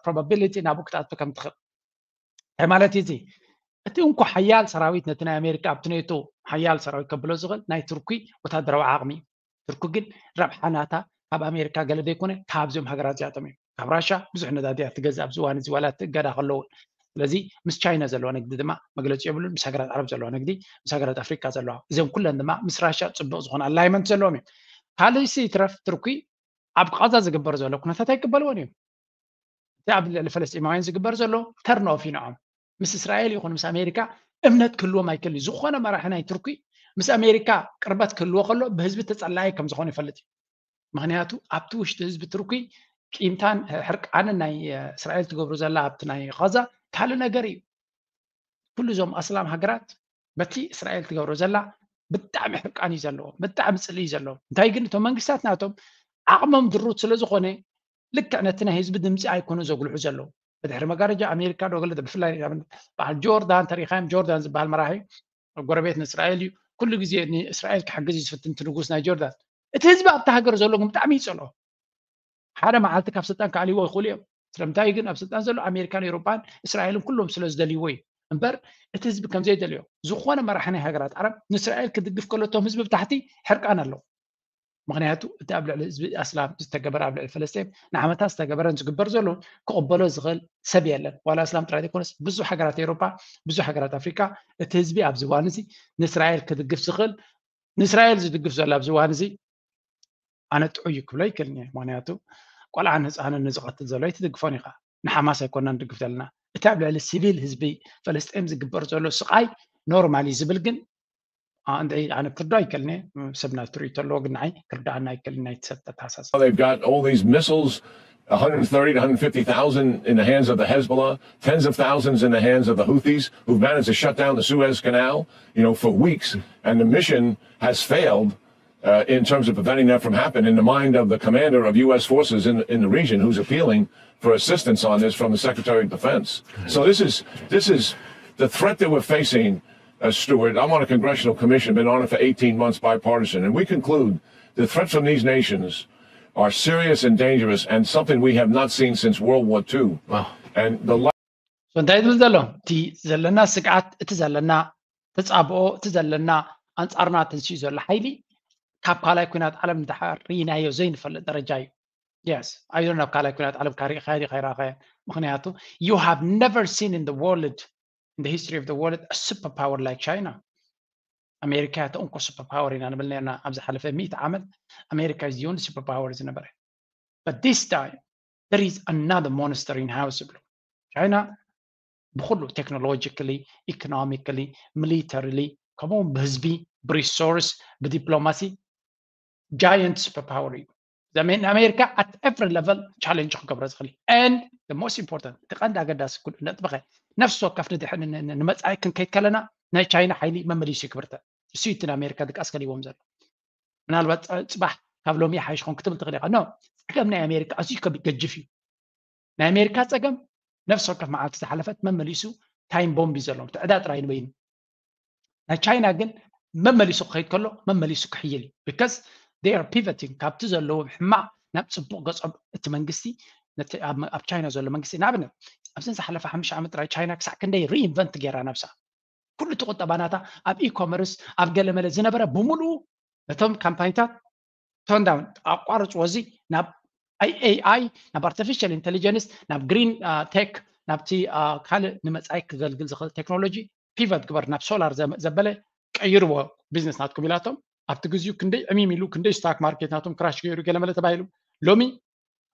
probability ናብኡ ክትኣቱ ከም ትኽእል እንታይ ማለት እዩ እዚ? እቲ እንኮ ሓያል ሰራዊት ነቲ ናይ ኣሜሪካ ኣብቲ ኔቶ ሓያል ሰራዊት ከብሎ ዝኽእል ናይ ቱርኪ ወታደራዊ ዓቕሚ እዩ። ቱርኪ ግን ረብሓ ናታ ካብ ኣሜሪካ ገለ ዘይኮነ ካብዚኦም ሃገራት እዚኣቶም እዮም። ካብ ራሻ ብዙሕ ነዳዲ እያ ትገዝእ ኣብዚ እዋን እዚ ዋላ እቲ እገዳ ከለውን። ስለዚ ምስ ቻይና ዘለዎ ንግዲ ድማ መግለፂ የብሉን። ምስ ሃገራት ዓረብ ዘለዎ ንግዲ፣ ምስ ሃገራት ኣፍሪካ ዘለዋ፣ እዚኦም ኩለን ድማ ምስ ራሻ ፅቡቅ ዝኾነ ኣላይመንት ዘለዎም እዮም። ካልእ ሲ ይትረፍ ቱርኪ ኣብ ቃዛ ዝግበር ዘሎ ኩነታት ኣይቅበልዎን እዮም። እቲ ኣብ ልዕሊ ፈለስጢማውያን ዝግበር ዘሎ ተርን ኦፍ እዩ ንዖም። ምስ እስራኤል ይኹን ምስ ኣሜሪካ እምነት ክህልዎም ኣይክእል እዩ። ዝኾነ መራሒ ናይ ቱርኪ ምስ ኣሜሪካ ቅርበት ክህልዎ ከሎ ብህዝቢ ተጸላኢ ከም ዝኾነ ይፈልጥ እዩ። ምክንያቱ ኣብቲ ውሽጢ ህዝቢ ቱርኪ ቂምታን ሕርቃንን ናይ እስራኤል ትገብሩ ዘላ ኣብቲ ናይ ቃዛ ካልእ ነገር እዩ። ኩሉ እዞም ኣስላም ሃገራት በቲ እስራኤል ትገብሮ ዘላ ብጣዕሚ ሕርቃን እዩ ዘለዎ፣ ብጣዕሚ ፅልኢ እዩ ዘለዎ። እንታይ ግን እቶም መንግስታት ናቶም ዓቕሞም ድሩት ስለ ዝኾነ ልክዕ ነቲ ናይ ህዝቢ ድምፂ ኣይኮኑ ዘጉልሑ ዘለዉ። ብድሕሪ መጋረጃ ኣሜሪካ ዶ ገለ ብፍላይ በዓል ጆርዳን ተሪኻዮም፣ ጆርዳን ዝበሃል መራሒ ጎረቤት ንእስራኤል እዩ። ኩሉ ግዜ ንእስራኤል ክሕግዝ እዩ ዝፍትን እቲ ንጉስ ናይ ጆርዳን። እቲ ህዝቢ ኣብቲ ሃገር ዘሎ ግን ብጣዕሚ ይፀልኦ። ሓደ መዓልቲ ካብ ስልጣን ክኣልይዎ ይኽእሉ እዮም። ስለምንታይ ግን ኣብ ስልጣን ዘሎ ኣሜሪካን ኤውሮጳን እስራኤልን ኩሎም ስለ ዝደልይዎ እዩ እምበር እቲ ህዝቢ ከም ዘይደልዮ። ዝኾነ መራሒ ናይ ሃገራት ዓረብ ንእስራኤል ክድግፍ ከሎ እቶም ህዝቢ ብታሕቲ ሕርቃን ኣለዉ። ምክንያቱ እቲ ኣብ ልዕሊ ህዝቢ ኣስላም ዝተገበረ ኣብ ልዕሊ ፈለስጢን ንዓመታት ዝተገበረን ዝግበር ዘሎ ክቕበሎ ዝኽእል ሰብ የለን። ዋላ ኣስላም ጥራይ ዘይኮነስ ብዙሕ ሃገራት ኤውሮጳ ብዙሕ ሃገራት ኣፍሪካ እቲ ህዝቢ ኣብዚ እዋን እዚ ንእስራኤል ክድግፍ ዝኽእል ንእስራኤል ዝድግፍ ዘሎ ኣብዚ እዋን እዚ ኣነ ጥዑይ እዩ ክብሎ ይክእልን እየ። ምክንያቱ ቆልዓን ህፃንን ንዝቐትል ዘሎ ኣይትድግፎን ኢኻ። ንሓማስ ኣይኮና ንድግፍ ዘለና። እቲ ኣብ ልዕሊ ሲቪል ህዝቢ ፈለስጤም ዝግበር ዘሎ ስቓይ ኖርማል እዩ ዝብል ግን እንድዒ ኣነ ክርዶ ኣይክእልን እየ። ሰብ ናቱ ርእይቶ ኣለዎ ግን ንዓይ ክርዳኣና ኣይክእልን ናይ ተሰጠ ተሓሳስባ። They've got all these missiles, one hundred thirty to one hundred fifty thousand in the hands of the Hezbollah, tens of thousands in the hands of the Houthis, who've managed to shut down the Suez Canal, you know, for weeks. And the mission has failed uh, in terms of preventing that from happening in the mind of the commander of U S forces in, in the region who's appealing for assistance on this from the Secretary of Defense. So this is this is the threat that we're facing, uh, Stuart. I'm on a congressional commission, been on it for eighteen months, bipartisan, and we conclude the threats from these nations are serious and dangerous and something we have not seen since World War Two. Wow. And the እንታይ ዝብል ዘሎ እቲ ዘለና ስግዓት እቲ ዘለና ተፃብኦ እቲ ዘለና ኣንፃርና ተንስኡ ዘሎ ሓይሊ ካብ ካልኣይ ኩናት ዓለም ንድሓር ርኢናዮ ዘይንፈልጥ ደረጃ እዩ። Yes, I don't know ካልኣይ ኩናት ዓለም ካሪእኻዮ ዲ ካይራኸ ምክንያቱ you have never seen in the world in the history of the world a super power like China. ኣሜሪካ እያ ተእንኮ super power ኢና ንብል ነርና ኣብ ዝሓለፈ ሚእቲ ዓመት ኣሜሪካ is the only super power ዝነበረ but this time there is another monster in house ይብሉ። ቻይና ብኩሉ technologically, economically, militarily ከምኡ ብህዝቢ ብሪሶርስ ብዲፕሎማሲ giant super power እዩ። ኣሜሪካ at every level challenge ክገብሮ ዝኽእል and the most important እቲ ቀንዲ ኣገዳሲ ኩሉ ነጥብኸ ነፍሲ ወከፍ ንመፃኢ ክንከይድ ከለና ናይ ቻይና ሓይሊ መመሊሱ ይክብርተ እሱ እቲ ንኣሜሪካ ድቃስ ከሊዎም ዘሎ ምናልባት ፅባሕ ካብ ሎሚ ይሓይሽ ኾን ክትብል ትኽእል ኢኻ no ጸገም ናይ ኣሜሪካ ኣዝዩ ከቢድ ገጅፍ እዩ። ናይ ኣሜሪካ ጸገም ነፍሲ ወከፍ መዓልቲ ዝሓለፈት መመሊሱ ታይም ቦምብ እዩ ዘለዎም ትዕዳ ጥራይ ንበይኑ ናይ ቻይና ግን መመሊሱ ክኸይድ ከሎ መመሊሱ ክሕይል እዩ because they are pivoting ካብቲ ዘለዎም ሕማቕ ናብ ጽቡቕ ገጾም እቲ መንግስቲ ኣብ ቻይና ዘሎ መንግስቲ ንኣብነት ኣብዘን ዝሓለፈ ሓሙሽተ ዓመት ጥራይ ቻይና ክሳዕ ክንደይ reinvent ገይራ ነብሳ ኩሉ እቲ ቁጠባ ናታ ኣብ e-commerce ኣብ ገለመለ ዝነበረ ብምሉኡ ነቶም ካምፓኒታት turn down ኣቋርፅዎ እዚ ናብ AI ናብ artificial intelligence ናብ green tech ናብቲ ካልእ ንመፃኢ ክገልግል ዝኽእል ቴክኖሎጂ pivot ግበር ናብ ሶላር ዘበለ ቀይርዎ ቢዝነስ ናትኩም ኢላቶም ኣብቲ ግዜኡ ክንደይ ዕሚም ኢሉ ክንደይ stock market ናቶም crash ገይሩ ገለመለ ተባሂሉ ሎሚ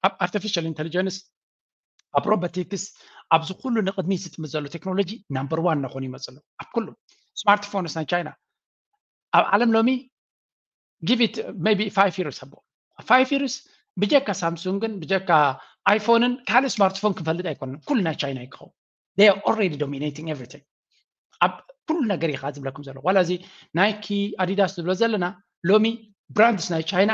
ኣብ artificial intelligence ኣብ robotics ኣብዚ ኩሉ ንቅድሚት ዝጥምት ዘሎ ቴክኖሎጂ number one እናኾኑ ይመፁ ኣለዉ ኣብ ኩሉ smartphones ናይ ቻይና ኣብ ዓለም ሎሚ give it maybe five years ኣቦ five years ብጀካ ሳምሱንግን ብጀካ ኣይፎንን ካልእ ስማርትፎን ክንፈልጥ ኣይኮንን ኩሉ ናይ ቻይና ይክኸውን they are already dominating everything ኣብ ኩሉ ነገር ኢኻ ዝብለኩም ዘሎ ዋላ እዚ ናይኪ ኣዲዳስ ዝብሎ ዘለና ሎሚ brands ናይ ቻይና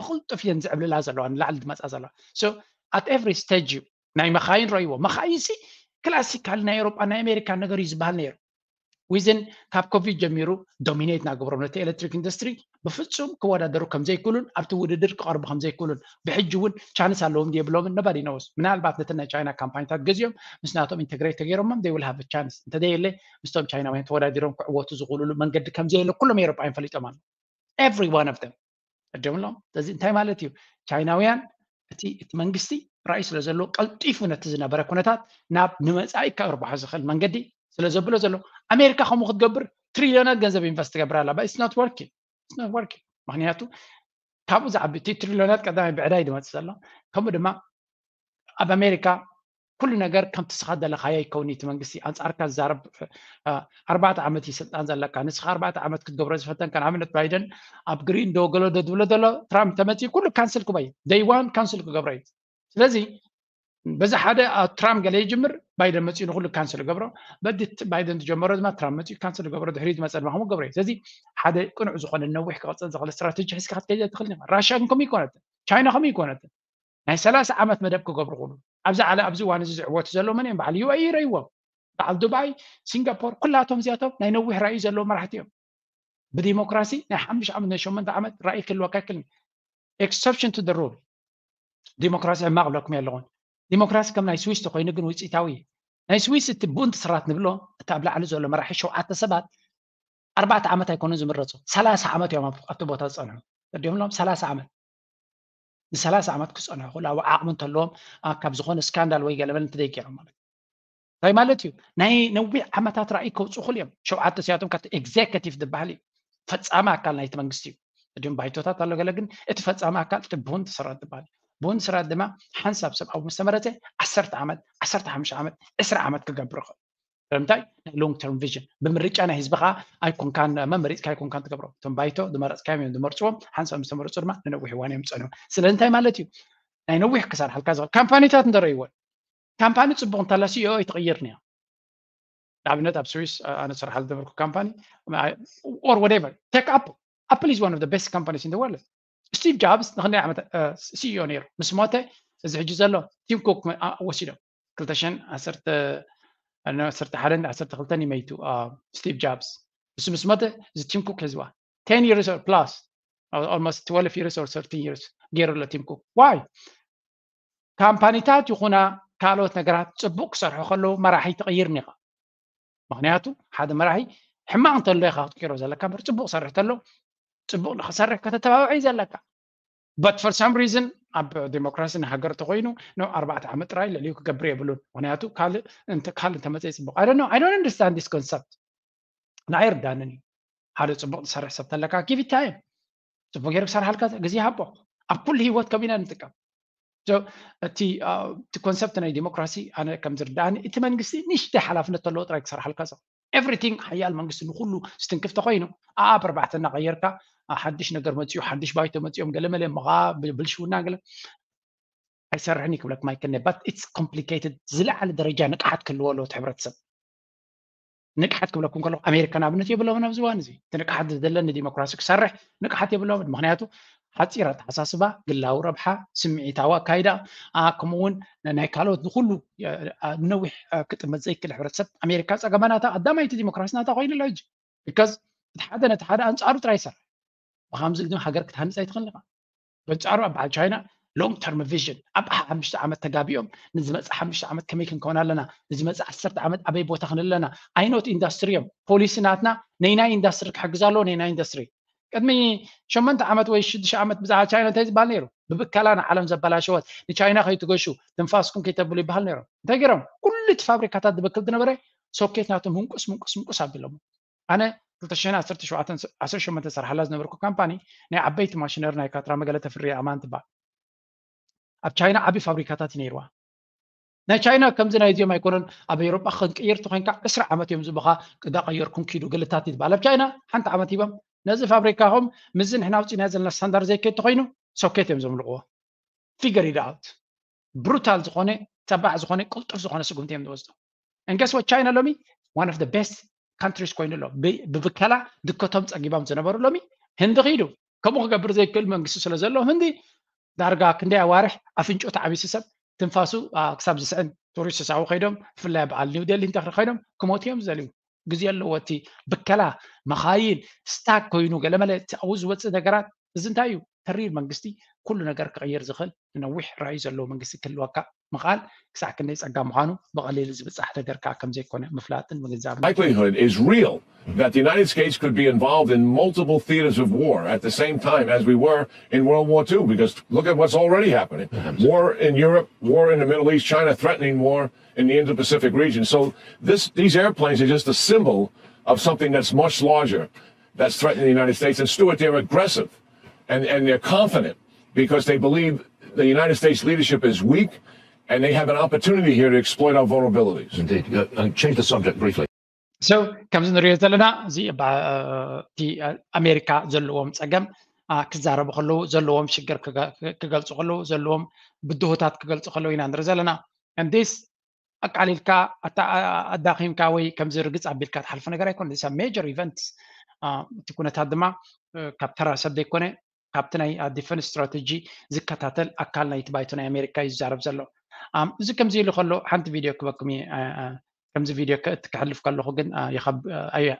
ብቕልጡፍ እየን ዝዕብልላ ዘለዋ፣ ንላዕሊ ዝመፃ ዘለዋ። So at every stage እዩ። ናይ መኻይን ረእይዎ። መኻይን ሲ ክላሲካል ናይ ኤውሮጳ ናይ ኣሜሪካ ነገር እዩ ዝበሃል ነይሩ። ዊዝን ካብ ኮቪድ ጀሚሩ ዶሚኔት እናገበሮም ነቲ ኤሌክትሪክ ኢንዱስትሪ ብፍጹም ክወዳደሩ ከም ዘይክእሉን ኣብቲ ውድድር ክቐርቡ ከም ዘይክእሉን ብሕጂ እውን ቻንስ ኣለዎም የብሎምን፣ nobody knows። ምናልባት ነተን ናይ ቻይና ካምፓኒታት ገዚኦም ምስ ናቶም ኢንተግሬት ተገይሮሞም they will have a chance። እንተዘየለ ምስቶም ቻይናውያን ተወዳዲሮም ክዕወቱ ዝኽእሉሉ መንገዲ ከም ዘየለ ኩሎም ኤውሮጳውያን ፈሊጦም ኣለዉ። Every one of them። ቅድም ኣለዎም። ስለዚ እንታይ ማለት እዩ? ቻይናውያን እቲ እቲ መንግስቲ ራእይ ስለ ዘለዎ ቀልጢፉ ነቲ ዝነበረ ኩነታት ናብ ንመጻኢ ከርብሖ ዝኽእል መንገዲ ስለ ዘብሎ ዘሎ ኣሜሪካ ከምኡ ክትገብር ትሪልዮናት ገንዘብ ኢንቨስት ትገብር ኣላ። But it's not working። It's not working። ምክንያቱ ካብኡ ዝዓቢ እቲ ትሪልዮናት ቀዳማይ ብዕዳይ ዝመፅእ ዘሎ ከምኡ ድማ ኣብ ኣሜሪካ ኩሉ ነገር ከምቲ ስኻ ዘለኻዮ ኣይከውን። እቲ መንግስቲ ኣንፃርካ ዝዛረብ ኣርባዕተ ዓመት እዩ ስልጣን ዘለካ። ንስኻ ኣርባዕተ ዓመት ክትገብሮ ዝፈተንካ ንኣብነት ባይደን ኣብ ግሪን ዶ ገሎ ዶ ዝብሎ ዘሎ ትራምፕ ተመፅኡ ኩሉ ካንስል ክበይ ደይ ዋን ካንስል ክገብሮ እዩ። ስለዚ በዚ ሓደ ትራምፕ ገለ ይጅምር ባይደን መፅኡ ንኩሉ ካንስል ገብሮ። በዚ ባይደን ዝጀመሮ ድማ ትራምፕ መፅኡ ካንስል ገብሮ። ድሕሪ ዝመፀ ድማ ከምኡ ገብሮ እዩ። ስለዚ ሓደ ቅኑዕ ዝኾነ ነዊሕ ክቐፅል ዝኽእል ስትራቴጂ ሒዝካ ክትከይድ ኣይትኽእልን ኢኻ። ራሽያ ግን ከምኡ ይኮነትን፣ ቻይና ከምኡ ይኮነትን። ናይ ሰላሳ ዓመት መደብ ክገብሩ ክሉ ኣብዚ ዓለ ኣብዚ እዋን እዚ ዝዕወቱ ዘለዉ መን እዮም? በዓል ዩ ኤ ኢ ረእይዎም፣ በዓል ዱባይ፣ ሲንጋፖር፣ ኩላቶም እዚኣቶም ናይ ነዊሕ ራእዩ ዘለዎም መራሕቲ እዮም። ብዲሞክራሲ ናይ ሓሙሽተ ዓመት ናይ ሸሞንተ ዓመት ራእይ ክህልወካ ይክእል። Exception to the rule። ዲሞክራሲ ሕማቕ ብለኩም የለኹን። ዲሞክራሲ ከም ናይ ስዊስ ተኮይኑ ግን ውፅኢታዊ እዩ። ናይ ስዊስ እቲ ቡንድ ስራት ንብሎ እቲ ኣብ ላዕሊ ዘሎ መራሒ ሸውዓተ ሰባት ኣርባዕተ ዓመት ኣይኮኑን ዝምረፁ፣ ሰላሳ ዓመት እዮም ኣብቲ ቦታ ዝፀንሑ። ተዲምሎም ሰላሳ ዓመት ንሰላሳ ዓመት ክፀንሑ ክእሉ ኣብ ዓቕሚ እንተለዎም ካብ ዝኾነ ስካንዳል ወይ ገለመል እንተደይገይሮም ማለት እንታይ ማለት እዩ? ናይ ነዊሕ ዓመታት ራእይ ከውፅኡ ክእሉ እዮም። ሸውዓተ ሲያቶም ካብቲ ኤግዜኪቲቭ ዝበሃል እዩ፣ ፈፃሚ ኣካል ናይቲ መንግስቲ እዩ። እዲም ባይቶታት ኣሎ ገለ ግን እቲ ፈፃሚ ኣካል እቲ ብሁን ትስራት ዝበሃል እዩ። ብሁን ትስራት ድማ ሓንሳብ ሰብ ኣብ ምስተመረፀ ዓሰርተ ዓመት፣ ዓሰርተ ሓሙሽተ ዓመት፣ ዕስራ ዓመት ክገብር ይኽእል። ስለምንታይ ናይ ሎንግ ተርም ቪዥን ብምርጫ ናይ ህዝቢ ከዓ ኣይኮንካን መመሪፅካ ኣይኮንካን ትገብሮ። እቶም ባይቶ ዝመረፅካዮም እዮም ዝመርፅዎም። ሓንሳብ ምስተመረፁ ድማ ንነዊሕ እዋን እዮም ዝፀንሑ። ስለዚ እንታይ ማለት እዩ? ናይ ነዊሕ ክሰርሓልካ ዝኽእል ካምፓኒታት እንተረእይዎ ካምፓኒ ፅቡቅ እንተላ ሲኢኦ ኣይትቕይርን እያ። ንኣብነት ኣብ ስዊስ ኣነ ዝሰርሓሉ ዝነበርኩ ካምፓኒ or whatever take Apple. Apple is one of the best companies in the world. ስቲቭ ጃብስ ንክንደይ ዓመት ሲኢኦ ነይሩ። ምስ ሞተ እዚ ሕጂ ዘሎ ቲም ኩክ ወሲዶም ክልተ ሽሕን ዓሰርተ ሓደን ዓሰርተ ክልተን ይመይቱ። ስቲቭ ጃብስ እሱ ምስ ሞተ እዚ ቲም ኩክ ህዝባ ten years or plus, almost twelve years or thirteen years ገይሩ ኣሎ ቲም ኩክ። ዋይ ካምፓኒታት ይኹና ካልኦት ነገራት ፅቡቅ ክሰርሑ ከለዉ መራሒ ትቕይር ኒኻ። ምክንያቱ ሓደ መራሒ ሕማቕ እንተሎ ኢኻ ክትቅይሮ ዘለካ እምበር ፅቡቅ ሰርሕ ተሎ ፅቡቅ ንክሰርሕ ከተተባብዐ እዩ ዘለካ። But for some reason ኣብ ዲሞክራሲ ንሃገር ተኮይኑ ን ኣርባዕተ ዓመት ጥራይ ልዕሊኡ ክገብር የብሉን። ምክንያቱ ካልእ እንተ ካልእ እንተመፀ ፅቡቅ። I don't know, I don't understand this concept። ንዓይ ርዳንን እዩ። ሓደ ፅቡቅ ዝሰርሕ ሰብ ተለካ give it time። ፅቡቅ ገይሩ ክሰርሓልካ ግዜ ሃቦ። ኣብ ኩሉ ህይወት ከቢና ንጥቀም። እቲ ኮንሰፕት ናይ ዲሞክራሲ ኣነ ከም ዝርዳእኒ እቲ መንግስቲ ንሽተ ሓላፍነት ተለዎ ጥራይ ክሰርሓልካ ዞ everything ሓያል መንግስቲ ንኩሉ ዝትንክፍ ተኮይኑ ኣኣብ ኣርባዕተ እናቀየርካ ሓድሽ ነገር መፅኡ ሓድሽ ባይቶ መፅኦም ገለመለ ምኻ ብልሽውና ገለ ኣይሰርሕን እዩ ክብለኩም ኣይክእልኒ። But it's complicated። ዝለዓለ ደረጃ ንቅሓት ክህልዎ ኣለዎ እቲ ሕብረተሰብ። ንቅሓት ክብለኩም ከለኩ ኣሜሪካ ንኣብነት የብሎምን ኣብዚ እዋን እዚ እቲ ንቅሓት ዝደለኒ ዲሞክራሲ ክሰርሕ ንቅሓት የብሎምን። ምክንያቱ ሓፂር ኣተሓሳስባ፣ ግላዊ ረብሓ፣ ስምዒታዊ ኣካይዳ፣ ከምኡ እውን ናይ ካልኦት ንኩሉ ነዊሕ ክጥመት ዘይክእል ሕብረተሰብ ኣሜሪካ ፀገማ ናታ ቀዳማይቲ ዲሞክራሲ ናታ ኮይኑ ኣሎ ሕጂ። Because እቲ ሓደ ነቲ ሓደ ኣንፃሩ ጥራይ ይሰርሕ። ብከምዚ ግን ሃገር ክትሃንፅ ኣይትኽእል ኢኻ። በንፃሩ ኣብ በዓል ቻይና long term vision ኣብ ሓሙሽተ ዓመት ተጋቢኦም ንዝመፅእ ሓሙሽተ ዓመት ከመይ ክንከውን ኣለና፣ ንዝመፅእ ዓሰርተ ዓመት ኣበይ ቦታ ክንህል ኣለና፣ ኣይኖት ኢንዳስትሪ እዮም ፖሊሲ ናትና ነይናይ ኢንዳስትሪ ክሕግዝ ኣለዎ። ነይናይ ኢንዳስትሪ ቅድሚ ሸሞንተ ዓመት ወይ ሽዱሽተ ዓመት ብዛዕባ ቻይና እንታይ ዝበሃል ነይሩ? ብብከላ ንዓለም ዘበላሸወት ንቻይና ከይትገሹ ትንፋስኩም ከይተብሉ ይበሃል ነይሮም። እንታይ ገይሮም? ኩሉ እቲ ፋብሪካታት ዝብክል ዝነበረ ሶኬት ናቶም ምንቁስ ምንቁስ ምንቁስ ኣቢሎም። ኣነ ክልተ ሽሕን ዓሰርተ ሸውዓተን ዓሰርተ ሸሞንተ ዝሰርሓላ ዝነበርኩ ካምፓኒ ናይ ዓበይቲ ማሽነሪ ናይ ካትራ መገለ ተፍርያ ኣማን ትበሃል። ኣብ ቻይና ዓብዪ ፋብሪካታት እዩ ነይርዋ። ናይ ቻይና ከምዚ ናይ እዚኦም ኣይኮነን። ኣብ ኤውሮጳ ክንቅይር ተኮይንካ ዕስራ ዓመት እዮም ዝብኻ ቅዳ ቀየርኩም ኪዱ ገለታት ይትበሃል። ኣብ ቻይና ሓንቲ ዓመት ሂቦም ነዚ ፋብሪካኹም ምስዚ ንሕና ኣውፂእና ዘለና ስታንዳርድ ዘይከድ ተኮይኑ ሶኬት እዮም ዘምልቕዎ። Figure it out። ብሩታል ዝኾነ ተባዕ ዝኾነ ቅልጡፍ ዝኾነ ስጉምቲ እዮም ዝወስዱ። And guess what? ቻይና ሎሚ one of the best countries ኮይኑ ኣሎ። ብብከላ ድከቶም ፀጊቦም ዝነበሩ ሎሚ ህንዲ ኪዱ ከምኡ ክገብር ዘይክእል መንግስቲ ስለ ዘሎ ህንዲ ዳርጋ ክንደይ ኣዋርሕ ኣፍንጮ ተዓቢሱ ሰብ ትንፋሱ ክሳብ ዝስዕን ቱሪስት ሳው ከይዶም ብፍላይ በዓል ኒው ደሊ እንተ ከይዶም ክሞት እዮም ዝደልዩ። ግዜ ኣለዎ። እቲ ብከላ መኻይን ስታክ ኮይኑ ገለመለ ኣብኡ ዝወፅእ ነገራት እዚ እንታይ እዩ? ተሪር መንግስቲ ኩሉ ነገር ክቕይር ዝኽእል ንነዊሕ ራእዩ ዘለዎ መንግስቲ ክህልወካ ምኽኣል ክሳዕ ክንደይ ፀጋ ምዃኑ ብቐሊሉ ዝብፃሕ ነገር ከዓ ከም ዘይኮነ ምፍላጥን ምግንዛብን። Likelihood is real that the United States could be involved in multiple theaters of war at the same time as we were in World War Two, because look at what's already happening. War in Europe, war in the Middle East, China threatening war in the Indo-Pacific region. So this, these airplanes are just a symbol of something that's much larger that's threatening the United States. And Stuart, they're aggressive and, and they're confident because they believe the United States leadership is weak and they have an opportunity here to exploit our vulnerabilities. Indeed. Uh, uh, change the subject briefly. So ከምዚ ንሪኦ ዘለና እዚ እቲ ኣሜሪካ ዘለዎም ፀገም ክዛረቡ ከለዉ ዘለዎም ሽግር ክገልፁ ከለዉ ዘለዎም ብድሆታት ክገልፁ ከለዉ ኢና ንርኢ ዘለና። እንዲስ ኣቃሊልካ ኣዳኺምካ ወይ ከምዚ ርግፅ ኣቢልካ ትሓልፎ ነገር ኣይኮነ። ሜጀር ኢቨንት እቲ ኩነታት ድማ ካብ ተራ ሰብ ዘይኮነ ካብቲ ናይ ዲፈንስ ስትራተጂ ዝከታተል ኣካል ናይቲ ባይቶ ናይ ኣሜሪካ እዩ ዝዛረብ ዘሎ። እዚ ከምዚ ኢሉ ከሎ ሓንቲ ቪድዮ ክበኩም እየ። ከምዚ ቪድዮ ክሕልፍ ከለኹ ግን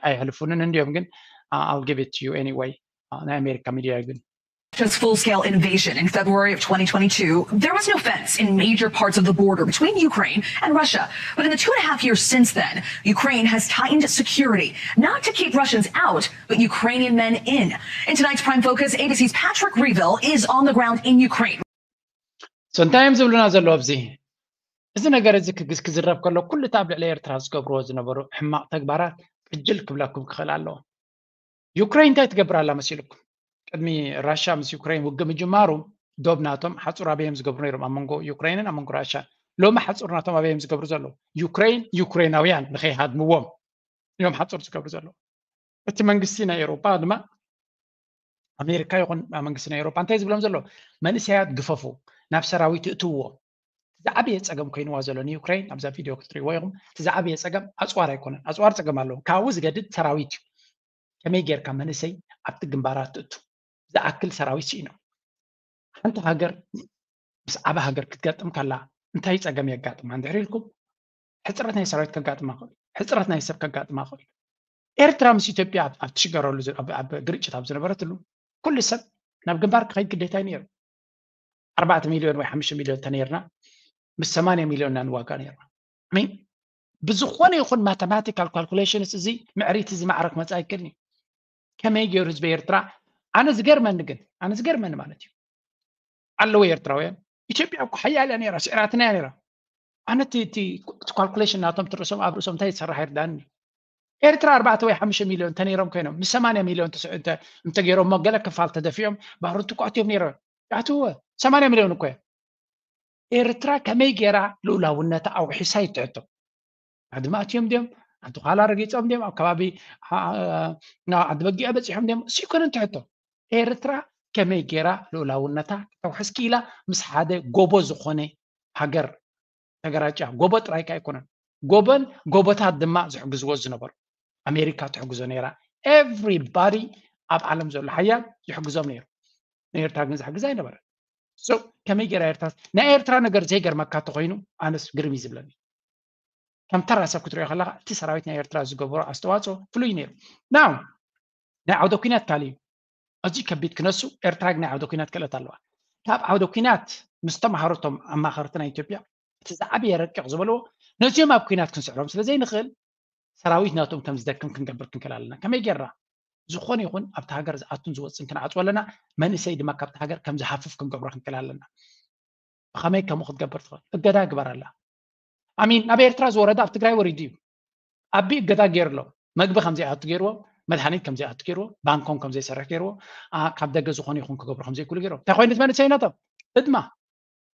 ኣይሕልፉንን እንዲዮም ግን I'll give it to you anyway። ናይ ኣሜሪካ ሚድያ እዩ ግን Russia's full scale invasion in February of twenty twenty-two, there was no fence in major parts of the border between Ukraine and Russia. But in the two and a half years since then, Ukraine has tightened security, not to keep Russians out, but Ukrainian men in. In tonight's Prime Focus, A B C's Patrick Reevell is on the ground in Ukraine. So እንታይ እዮም ዝብሉና ዘለዉ ኣብዚ? እዚ ነገር እዚ ክዝረብ ከሎ ኩሉ እቲ ኣብ ልዕሊ ኤርትራ ዝገብርዎ ዝነበሩ ሕማቕ ተግባራት ቅጅል ክብለኩም ክኽእል ኣለዎ። ዩክሬን እንታይ ትገብር ኣላ መሲልኩም? ቅድሚ ራሻ ምስ ዩክሬን ውግእ ምጅማሩ ዶብ ናቶም ሓፁር ኣበይ እዮም ዝገብሩ ነይሮም? ኣብ መንጎ ዩክሬንን ኣብ መንጎ ራሻን። ሎሚ ሓፁር ናቶም ኣበይ እዮም ዝገብሩ ዘለዉ? ዩክሬን ዩክሬናውያን ንኸይሃድምዎም እዮም ሓፁር ዝገብሩ ዘለዉ። እቲ መንግስቲ ናይ ኤውሮጳ ድማ ኣሜሪካ ይኹን መንግስቲ ናይ ኤውሮጳ እንታይ ዝብሎም ዘሎ? መንእሰያት ግፈፉ፣ ናብ ሰራዊት እትውዎ። ዝዓበየ ፀገም ኮይንዋ ዘሎ ንዩክሬን ኣብዛ ቪድዮ ክትሪእዎ ኢኹም። እቲ ዝዓበየ ፀገም ኣፅዋር ኣይኮነን። ኣፅዋር ፀገም ኣለዎ። ካብኡ ዝገድድ ሰራዊት እዩ። ከመይ ጌርካ መንእሰይ ኣብቲ ግንባራት ትእቱ ዝኣክል ሰራዊት ስኢኖም። ሓንቲ ሃገር ምስ ዓበ ሃገር ክትገጥም ከላ እንታይ ፀገም የጋጥማ እንድሕር ኢልኩም ሕፅረት ናይ ሰራዊት ከጋጥማ ክእል፣ ሕፅረት ናይ ሰብ ከጋጥማ ክእል። ኤርትራ ምስ ኢትዮጵያ ኣብ ትሽገረሉ ኣብ ግርጭት ኣብ ዝነበረትሉ ኩሉ ሰብ ናብ ግንባር ክኸይድ ግዴታ እዩ ነይሩ። ኣርባዕተ ሚልዮን ወይ ሓሙሽተ ሚልዮን ተነይርና ምስ ሰማንያ ሚልዮን ኢና ንዋጋ ነይርና። ብዝኾነ ይኹን ማተማቲካል ካልኩሌሽንስ እዚ ምዕሪት እዚ ማዕረ ክመፅእ ኣይክእልን እዩ። ከመይ ገይሩ ህዝቢ ኤርትራ ኣነ ዝገርመኒ ግን ኣነ ዝገርመኒ ማለት እዩ ኣለዉ ኤርትራውያን ኢትዮጵያ እኮ ሓያል እያ ነይራ ስዕራትና እያ ነይራ ኣነ እቲ ካልኩሌሽን ናቶም ትርእሶም ኣብ ርእሶም እንታይ ዝሰራሕ ይርዳኒ ኤርትራ ኣርባዕተ ወይ ሓሙሽተ ሚልዮን ተነይሮም ኮይኖም ምስ ሰማንያ ሚልዮን እንተገይሮሞ ገለ ክፋል ተደፊኦም ባሮት እኮ ኣትዮም ነይሮም ያትወ ሰማንያ ሚልዮን እኮ እዮም ኤርትራ ከመይ ገይራ ልኡላውነታ ኣውሒሳ ይትሕቶ ዓዲ ማእትዮም ድዮም ዓዲ ኋላ ረጊፆም ድዮም ኣብ ከባቢ ዓዲ በጊዕ በፂሖም ድዮም እሱ ይኮነ እንትሕቶ ኤርትራ ከመይ ገይራ ልኡላውነታ ከተውሕስ ክኢላ ምስ ሓደ ጎቦ ዝኾነ ሃገር ተገራጭያ ጎቦ ጥራይካ ኣይኮነን ጎቦን ጎቦታት ድማ ዝሕግዝዎ ዝነበሩ ኣሜሪካ ትሕግዞ ነይራ everybody ኣብ ዓለም ዘሎ ሓያል ይሕግዞም ነይሩ ንኤርትራ ግን ዝሕግዝ ኣይነበረ ከመይ ገይራ ኤርትራ ናይ ኤርትራ ነገር ዘይገርመካ ተኮይኑ ኣነስ ግርም እዩ ዝብለኒ ከም ተራ ሰብ ክትሪኦ ከለካ እቲ ሰራዊት ናይ ኤርትራ ዝገበሮ ኣስተዋፅኦ ፍሉይ ነይሩ ናው ናይ ዓውደ ኩናት ካሊ እዩ ኣዝዩ ከቢድ ክነሱ ኤርትራ ግን ናይ ዓውደ ኩናት ክእለት ኣለዋ ካብ ዓውደ ኩናት ምስ ተምሃርቶም ኣማኸርቲ ናይ ኢትዮጵያ እቲ ዝዓበየ ረቂቕ ዝበልዎ ነዚኦም ኣብ ኩናት ክንስዕሮም ስለ ዘይንኽእል ሰራዊት ናቶም ከም ዝደክም ክንገብር ክንክእል ኣለና ከመይ ጌርና ዝኾነ ይኹን ኣብቲ ሃገር ዝኣቱን ዝወፅን ክንዓፅዎ ኣለና መንእሰይ ድማ ካብቲ ሃገር ከም ዝሃፍፍ ክንገብሮ ክንክእል ኣለና ብኸመይ ከምኡ ክትገብር ትኽእል እገዳ ግበር ኣላ ኣሚን ናብ ኤርትራ ዝወረደ ኣብ ትግራይ ወሪዱ እዩ ኣቢ እገዳ ገይሩ ኣሎ መግቢ ከም ዘይኣቱ ገይርዎ መድሃኒት ከም ዘይኣቱ ገይርዎ ባንኮም ከም ዘይሰርሕ ገይርዎ ካብ ደገ ዝኾነ ይኹን ክገብሩ ከም ዘይክእሉ ገይርዎ እንታይ ኮይኑ መንእሰይነቶም ህድማ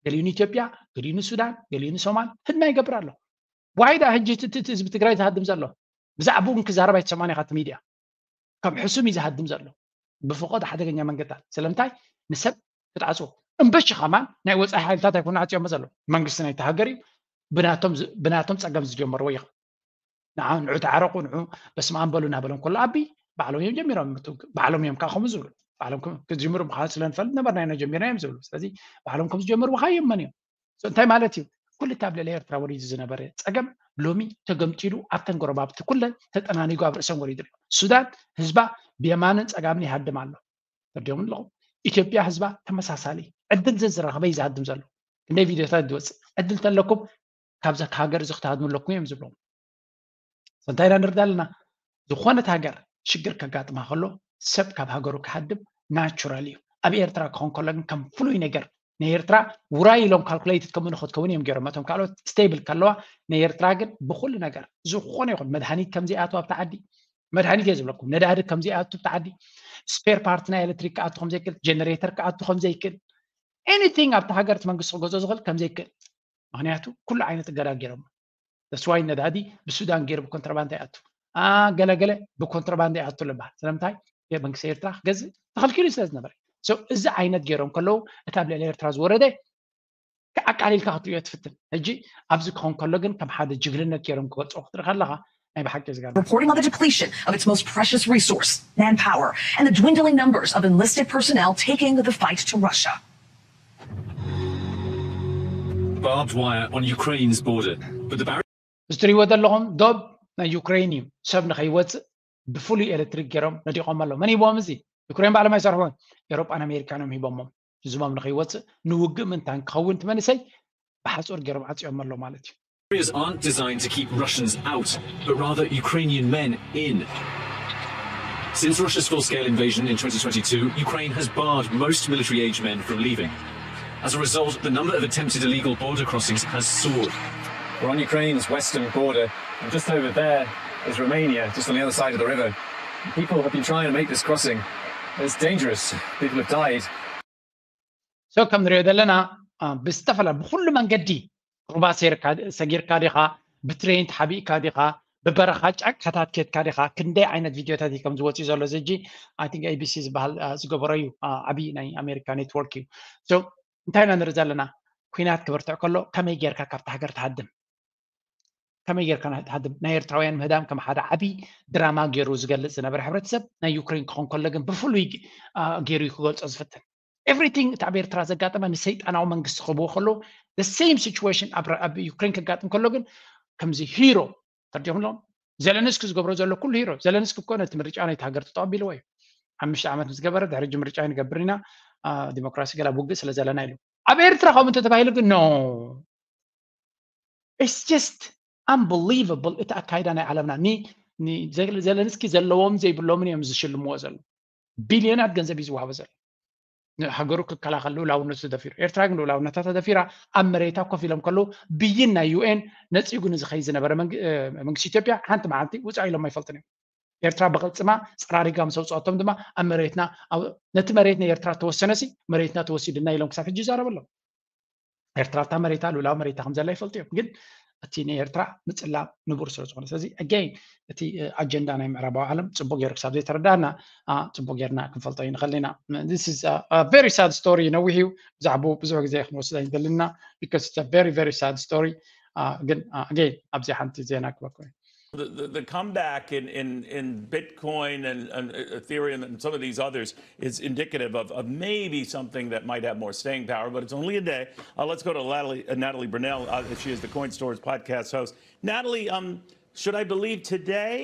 ገሊኡ ንኢትዮጵያ ገሊኡ ንሱዳን ገሊኡ ንሶማል ህድማ ይገብር ኣሎ ዋይዳ ሕጂ እቲ ህዝቢ ትግራይ ዝሃድም ዘሎ ብዛዕባኡ ግን ክዛረብ ኣይትሰማን ኢኻ እቲ ሚድያ ከም ሕሱም እዩ ዝሃድም ዘሎ ብፍቆድ ሓደገኛ መንገድታት ስለምንታይ ንሰብ ክትዓፅዎ እምበሺ ከማን ናይ ወፃኢ ሓይልታት ኣይኮኑ ዓፅዮሞ ዘሎ መንግስቲ ናይቲ ሃገር እዩ ብናቶም ፀገም ዝጀመርዎ ይኸ ንዓ ንዑ ተዓረቁ ንዑ በስመ ኣብ በሉ እናበሎም ከሎ ኣቢ ባዕሎም እዮም ጀሚሮም ባዕሎም እዮም ከዓ ከምኡ ዝብሉ ባዕሎም ክም- ክጅምሩ ምዃኑ ስለ ንፈልጥ ነበርና ኢና ጀሚርና እዮም ዝብሉ። ስለዚ ባዕሎም ከም ዝጀምሩ ከ የመን እዮም። So እንታይ ማለት እዩ? ኩሉ እቲ ኣብ ልዕሊ ኤርትራ ወሪዱ ዝነበረ ጸገም ሎሚ ተገምጢሉ ኣብተን ጎረባብቲ ኩለን ተጠናኒጉ ኣብ ርእሰን ወሪዱ ኣሎ። ሱዳን ህዝባ ብየማንን ጸጋምን ይሃድም ኣሎ። ተርዲኦም ኣለኹም። ኢትዮጵያ ህዝባ ተመሳሳሊ ዕድል ዘዝረኸበ እዩ ዝሃድም ዘሎ። ክንደይ ቪድዮታት ዝወፅእ ዕድል ተለኩም ካብዛ ሃገር እዚ ክትሃድሙ ኣለኩም እዮም ዝብሎም። So እንታይ ኢና ንርዳ ኣለና? ዝኾነት ሃገር ሽግር ከጋጥማ ከሎ ሰብ ካብ ሃገሩ ክሃድም ናቹራል እዩ። ኣብ ኤርትራ ክኾን ከሎ ግን ከም ፍሉይ ነገር ናይ ኤርትራ ውራይ ኢሎም ካልኩሌትድ ከምኡ ንክትከውን እዮም ገይሮም። እቶም ካልኦት ስቴብል ከለዋ ናይ ኤርትራ ግን ብኩሉ ነገር ዝኾነ ይኹን መድሃኒት ከምዘይኣቱ ኣብቲ ዓዲ መድሃኒት እየ ዝብለኩም ነዳዲ ከምዘይኣቱ ኣብቲ ዓዲ ስፔር ፓርት ናይ ኤሌክትሪክ ክኣቱ ከምዘይክእል ጀነሬተር ክኣቱ ከምዘይክእል ኤኒቲንግ ኣብቲ ሃገር እቲ መንግስቲ ክገዝኦ ዝኽእል ከምዘይክእል ምክንያቱ ኩሉ ዓይነት እገዳ ገይሮም ተስዋይ ነዳዲ ብሱዳን ገይሩ ብኮንትራባንዳ ይኣቱ ገለገለ ብኮንትራባንዳ ይኣቱ ልበሃል ስለምንታይ መንግስቲ ኤርትራ ክገዝእ ተኸልኪሉ ስለ ዝነበረ እዚ ዓይነት ገይሮም ከለዉ እቲ ኣብ ልዕሊ ኤርትራ ዝወረደ ኣቃሊልካ ክትሪኦ ትፍትን ሕጂ ኣብዚ ክኾን ከሎ ግን ከም ሓደ ጅግንነት ገይሮም ክገልፅዎ ክትርኢ ከለካ ናይ ብሓቂ ዝገርም reporting on the depletion of its most precious resource, manpower, and the dwindling numbers of enlisted personnel taking the fight to Russia. Barbed wire on Ukraine's border, but the barrier እዚ ትሪእዎ ዘለኹም ዶብ ናይ ዩክሬን እዩ ሰብ ንኸይወፅእ ብፍሉይ ኤሌክትሪክ ገይሮም ነዲቖም ኣለዉ መን ሂቦም እዚ ዩክሬን ባዕሎም ኣይሰርሕዎን ኤሮጳን ኣሜሪካን እዮም ሂቦሞም ህዝቦም ንኸይወፅእ ንውግእ ምንታን ክኸውን እቲ መንእሰይ ብሓፁር ገይሮም ዓፅዮም ኣለዉ ማለት እዩ barriers aren't designed to keep Russians out, but rather Ukrainian men in. Since Russia's full scale invasion in twenty twenty-two, Ukraine has barred most military age men from leaving. As a result, the number of attempted illegal border crossings has soared. We're on Ukraine's western border, and just over there is Romania, just on the other side of the river. People have been trying to make this crossing. It's dangerous. People have died. So ከም ንሪኦ ዘለና ብዝተፈላ ብኩሉ መንገዲ ሩባ ሰጊርካ ዲኻ ብትሬን ተሓቢእካ ዲኻ ብበረኻ ጫካታት ኬድካ ዲኻ ክንደይ ዓይነት ቪድዮታት እዩ ከም ዝወፅእ ዘሎ እዚ ሕጂ I think A B C ዝበሃል ዝገበሮ እዩ ዓብዪ ናይ ኣሜሪካ ኔትወርክ እዩ so እንታይ ኢና ንርኢ ዘለና ኩናት ክበርትዕ ከሎ ከመይ ጌርካ ካብቲ ሃገር ትሃድም ከመይ ጌርካ ትሃድም ናይ ኤርትራውያን ምህዳም ከም ሓደ ዓብዪ ድራማ ገይሩ ዝገልፅ ዝነበረ ሕብረተሰብ ናይ ዩክሬን ክኾን ከሎ ግን ብፍሉይ ገይሩ እዩ ክገልፆ ዝፍትን everything እቲ ኣብ ኤርትራ ዘጋጠመ ንሰይጣናዊ መንግስቲ ክህብዎ ከለዉ the same situation ኣብ ዩክሬን ከጋጥም ከሎ ግን ከምዚ ሂሮ ተርዲኹም ኣለዎም ዘለንስኪ ዝገብሮ ዘሎ ኩሉ ሂሮ ዘለንስኪ እኮ ነቲ ምርጫ ናይቲ ሃገር ተጠቐቢልዎ እዩ ሓሙሽተ ዓመት ምስ ገበረ ድሕሪ ሕጂ ምርጫ ንገብር ኢና ዲሞክራሲ ገላ ውግእ ስለ ዘለና ኢሉ ኣብ ኤርትራ ከምኡ እንተተባሂሉ ግን no it's just unbelievable እቲ ኣካይዳ ናይ ዓለምና ዘለንስኪ ዘለዎም ዘይብሎምን እዮም ዝሽልምዎ ዘሎ ቢልዮናት ገንዘብ እዩ ዝወሃቦ ዘሎ ሃገሩ ክከላኸል ልኡላውነቱ ተደፊሩ ኤርትራ ግን ልኡላውነታ ተደፊራ ኣብ መሬታ ኮፍ ኢሎም ከለዉ ብይን ናይ ዩኤን ነፂጉ ንዝኸይ ዝነበረ መንግስቲ ኢትዮጵያ ሓንቲ መዓልቲ ውፃእ ኢሎም ኣይፈልጥን እዮም ኤርትራ ብቕልፅማ ፀራሪጋ ምስ ኣውፅኣቶም ድማ ኣብ መሬትና ነቲ መሬት ናይ ኤርትራ ተወሰነሲ መሬትና ተወሲድና ኢሎም ክሳብ ሕጂ ይዛረቡ ኣለዉ ኤርትራ እታ መሬታ ልኡላዊ መሬታ ከም ዘላ ይፈልጡ እዮም ግን እቲ ንኤርትራ ምፅላም ንቡር ስለ ዝኾነ ስለዚ ኣገይን እቲ ኣጀንዳ ናይ ምዕራባዊ ዓለም ፅቡቅ ገይሩ ክሳብ ዘይተረዳእና ፅቡቅ ጌርና ክንፈልጦ ይንኽእል ኢና this is a very sad story ነዊሕ እዩ ብዛዕባኡ ብዙሕ ግዜ ክንወስድ ኣይንደልና because it's a very very sad story ግን ኣገይን ኣብዚ ሓንቲ ዜና ክበኮ እዩ The, the, the comeback in, in, in Bitcoin and, and Ethereum and some of these others is indicative of, of maybe something that might have more staying power, but it's only a day. Uh, let's go to Natalie, uh, Natalie Brunell. Uh, she is the Coin Stories podcast host. Natalie, um, should I believe today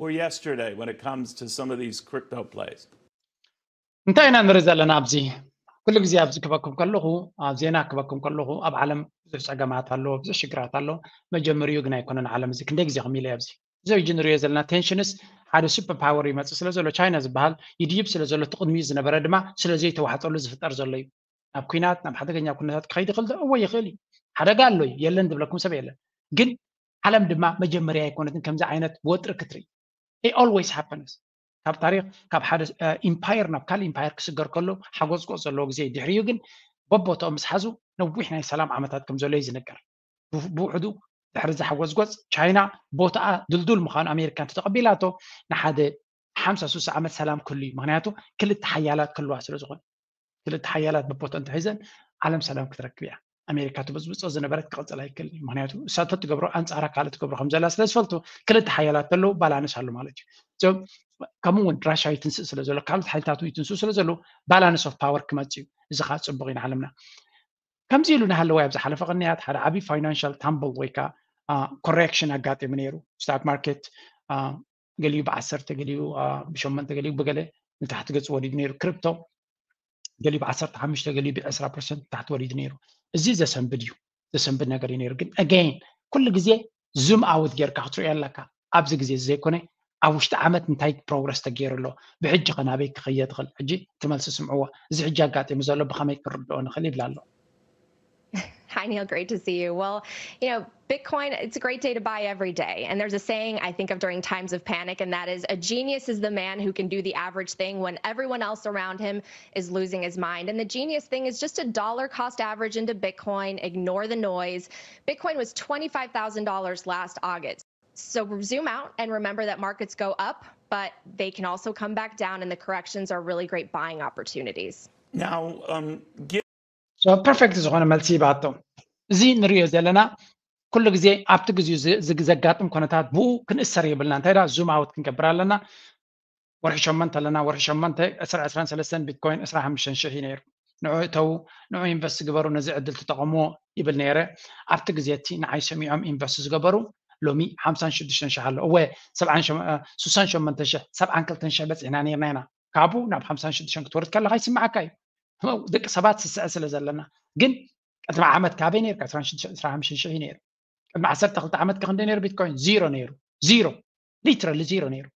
or yesterday when it comes to some of these crypto plays? እንታይ ኢና ንርኢ ዘለና ኣብዚ ኩሉ ግዜ ኣብዚ ክበኩም ከለኹ ኣብ ዜና ክበኩም ከለኹ ኣብ ዓለም ብዙሕ ፀገማት ኣሎ ብዙሕ ሽግራት ኣሎ መጀመሪኡ ግን ኣይኮነን ዓለም እዚ ክንደይ ግዜ ከም ኢለ ኣብዚ እዚ ሕጂ ንሪኦ ዘለና ቴንሽንስ ሓደ ሱፐር ፓወር ይመፅእ ስለ ዘሎ ቻይና ዝበሃል ይድይብ ስለ ዘሎ እቲ ቅድሚኡ ዝነበረ ድማ ስለ ዘይተዋሕጠሉ ዝፍጠር ዘሎ እዩ ናብ ኩናት ናብ ሓደገኛ ኩነታት ክኸይድ ይኽእል እወ ይኽእል እዩ ሓደጋ ኣሎ እዩ የለን ዝብለኩም ሰብ የለን ግን ዓለም ድማ መጀመርያ ኣይኮነትን ከምዚ ዓይነት ወጥሪ ክትርኢ always happens ካብ ታሪክ ካብ ሓደ ኢምፓየር ናብ ካልእ ኢምፓየር ክስገር ከሎ ሓጎፅጎፅ ዘለዎ ግዜ ድሕሪኡ ግን በቦትኦም ምስ ሓዙ ነዊሕ ናይ ሰላም ዓመታት ከም ዘሎ እዩ ዝነገር ብውሕዱ ድሕሪ እዚ ሓጎፅጎፅ ቻይና ቦታኣ ድልዱል ምዃኑ ኣሜሪካ እንተተቐቢላቶ ንሓደ ሓምሳ ሱሳ ዓመት ሰላም ክህሉ እዩ ምክንያቱ ክልተ ሓያላት ክህልዋ ስለ ዝኾነ ክልተ ሓያላት በቦትኦም ተሒዘን ዓለም ሰላም ክትረክብ እያ ኣሜሪካ ትብፅብፆ ዝነበረት ክቕፅል ኣይክእል እዩ። ምክንያቱ እሳቶ ትገብሮ ኣንፃራ ካልእ ትገብሮ ከም ዘላ ስለ ዝፈልጡ ክልተ ሓያላት ተለዉ ባላንስ ኣሎ ማለት እዩ። ከምኡ እውን ራሻ ይትንስእ ስለ ዘሎ ካልኦት ሓይልታት ይትንስኡ ስለ ዘለዉ ባላንስ ኦፍ ፓወር ክመፅ እዩ። እዚ ከዓ ፅቡቅ እዩ ንዓለምና። ከምዚ ኢሉ እናሃለወ ኣብ ዝሓለፈ ቅንያት ሓደ ዓብዪ ፋይናንሻል ታምብል ወይ ከዓ ኮሬክሽን ኣጋጢሙ ነይሩ። ስታክ ማርኬት ገሊኡ ብዓሰርተ ገሊኡ ብሸመንተ ገሊኡ ብገለ ንታሕቲ ገፅ ወሪዱ ነይሩ። ክሪፕቶ ገሊኡ ብዓሰርተ ሓሙሽተ ገሊኡ ብዕስራ ፐርሰንት ታሕቲ ወሪዱ ነይሩ። እዚ ዘሰንብድ እዩ፣ ዘሰንብድ ነገር እዩ ነይሩ። ግን ኣገይን ኩሉ ግዜ ዙም ኣውት ጌርካ ክትሪኦ ኣለካ። ኣብዚ ግዜ እዚ ዘይኮነ ኣብ ውሽጢ ዓመት እንታይ ፕሮግረስ ተገይሩ ኣሎ፣ ብሕጂ ከ ናበይ ክኸየ ትኽእል። ሕጂ እቲ መልሲ ስምዕዎ፣ እዚ ሕጂ ኣጋጢሙ ዘሎ ብኸመይ ክንርድኦ ንኽእል ይብል ኣሎ። Hi, Neil. Great to see you. Well, you know, Bitcoin, it's a great day to buy every day. And there's a saying I think of during times of panic, and that is, "A genius is the man who can do the average thing when everyone else around him is losing his mind." And the genius thing is just a dollar cost average into Bitcoin, ignore the noise. Bitcoin was twenty-five thousand dollars last August. So zoom out and remember that markets go up, but they can also come back down, and the corrections are really great buying opportunities. Now, um, ፐርፌክት ዝኾነ መልሲ ይባቶ። እዚ ንሪኦ ዘለና ኩሉ ግዜ ኣብቲ ግዜኡ ዘጋጥም ኩነታት ብኡ ክንእሰር የብልና። እንታይ ዳ ዙም ኣውት ክንገብር ኣለና። ወርሒ ሸመንተ ኣለና። ወርሒ ሸመንተ ዕስራ ዕስራን ሰለስተን ቢትኮይን ዕስራ ሓሙሽተ ሽሕ እዩ ነይሩ። ንዑ እተዉ፣ ንዑ ኢንቨስት ግበሩ፣ ነዚ ዕድል ትጠቐምዎ ይብል ነይረ። ኣብቲ ግዜ እቲ ንዓይ ሰሚዖም ኢንቨስት ዝገበሩ ሎሚ ሓምሳን ሽዱሽተን ሽሕ ኣሎ። እወ ስሳን ሸመንተ ሽሕ ሰብዓን ክልተን ሽሕ በፂሕና ነይርና ኢና። ካብኡ ናብ ሓምሳን ሽዱሽተን ክትወርድ ከለካ ይስምዓካ እዩ። ደቂ ሰባት ስስዐ ስለ ዘለና። ግን ቅድሚ ዓመት ካበይ ነይርካ? ዕስራን ሽዱሽተን ዕስራን ሓሙሽተን ሽሕ እዩ ነይሩ። ቅድሚ ዓሰርተ ክልተ ዓመት ከ ክንደይ ነይሩ ቢትኮይን? ዚሮ ነይሩ። ዚሮ፣ ሊትራሊ ዚሮ ነይሩ።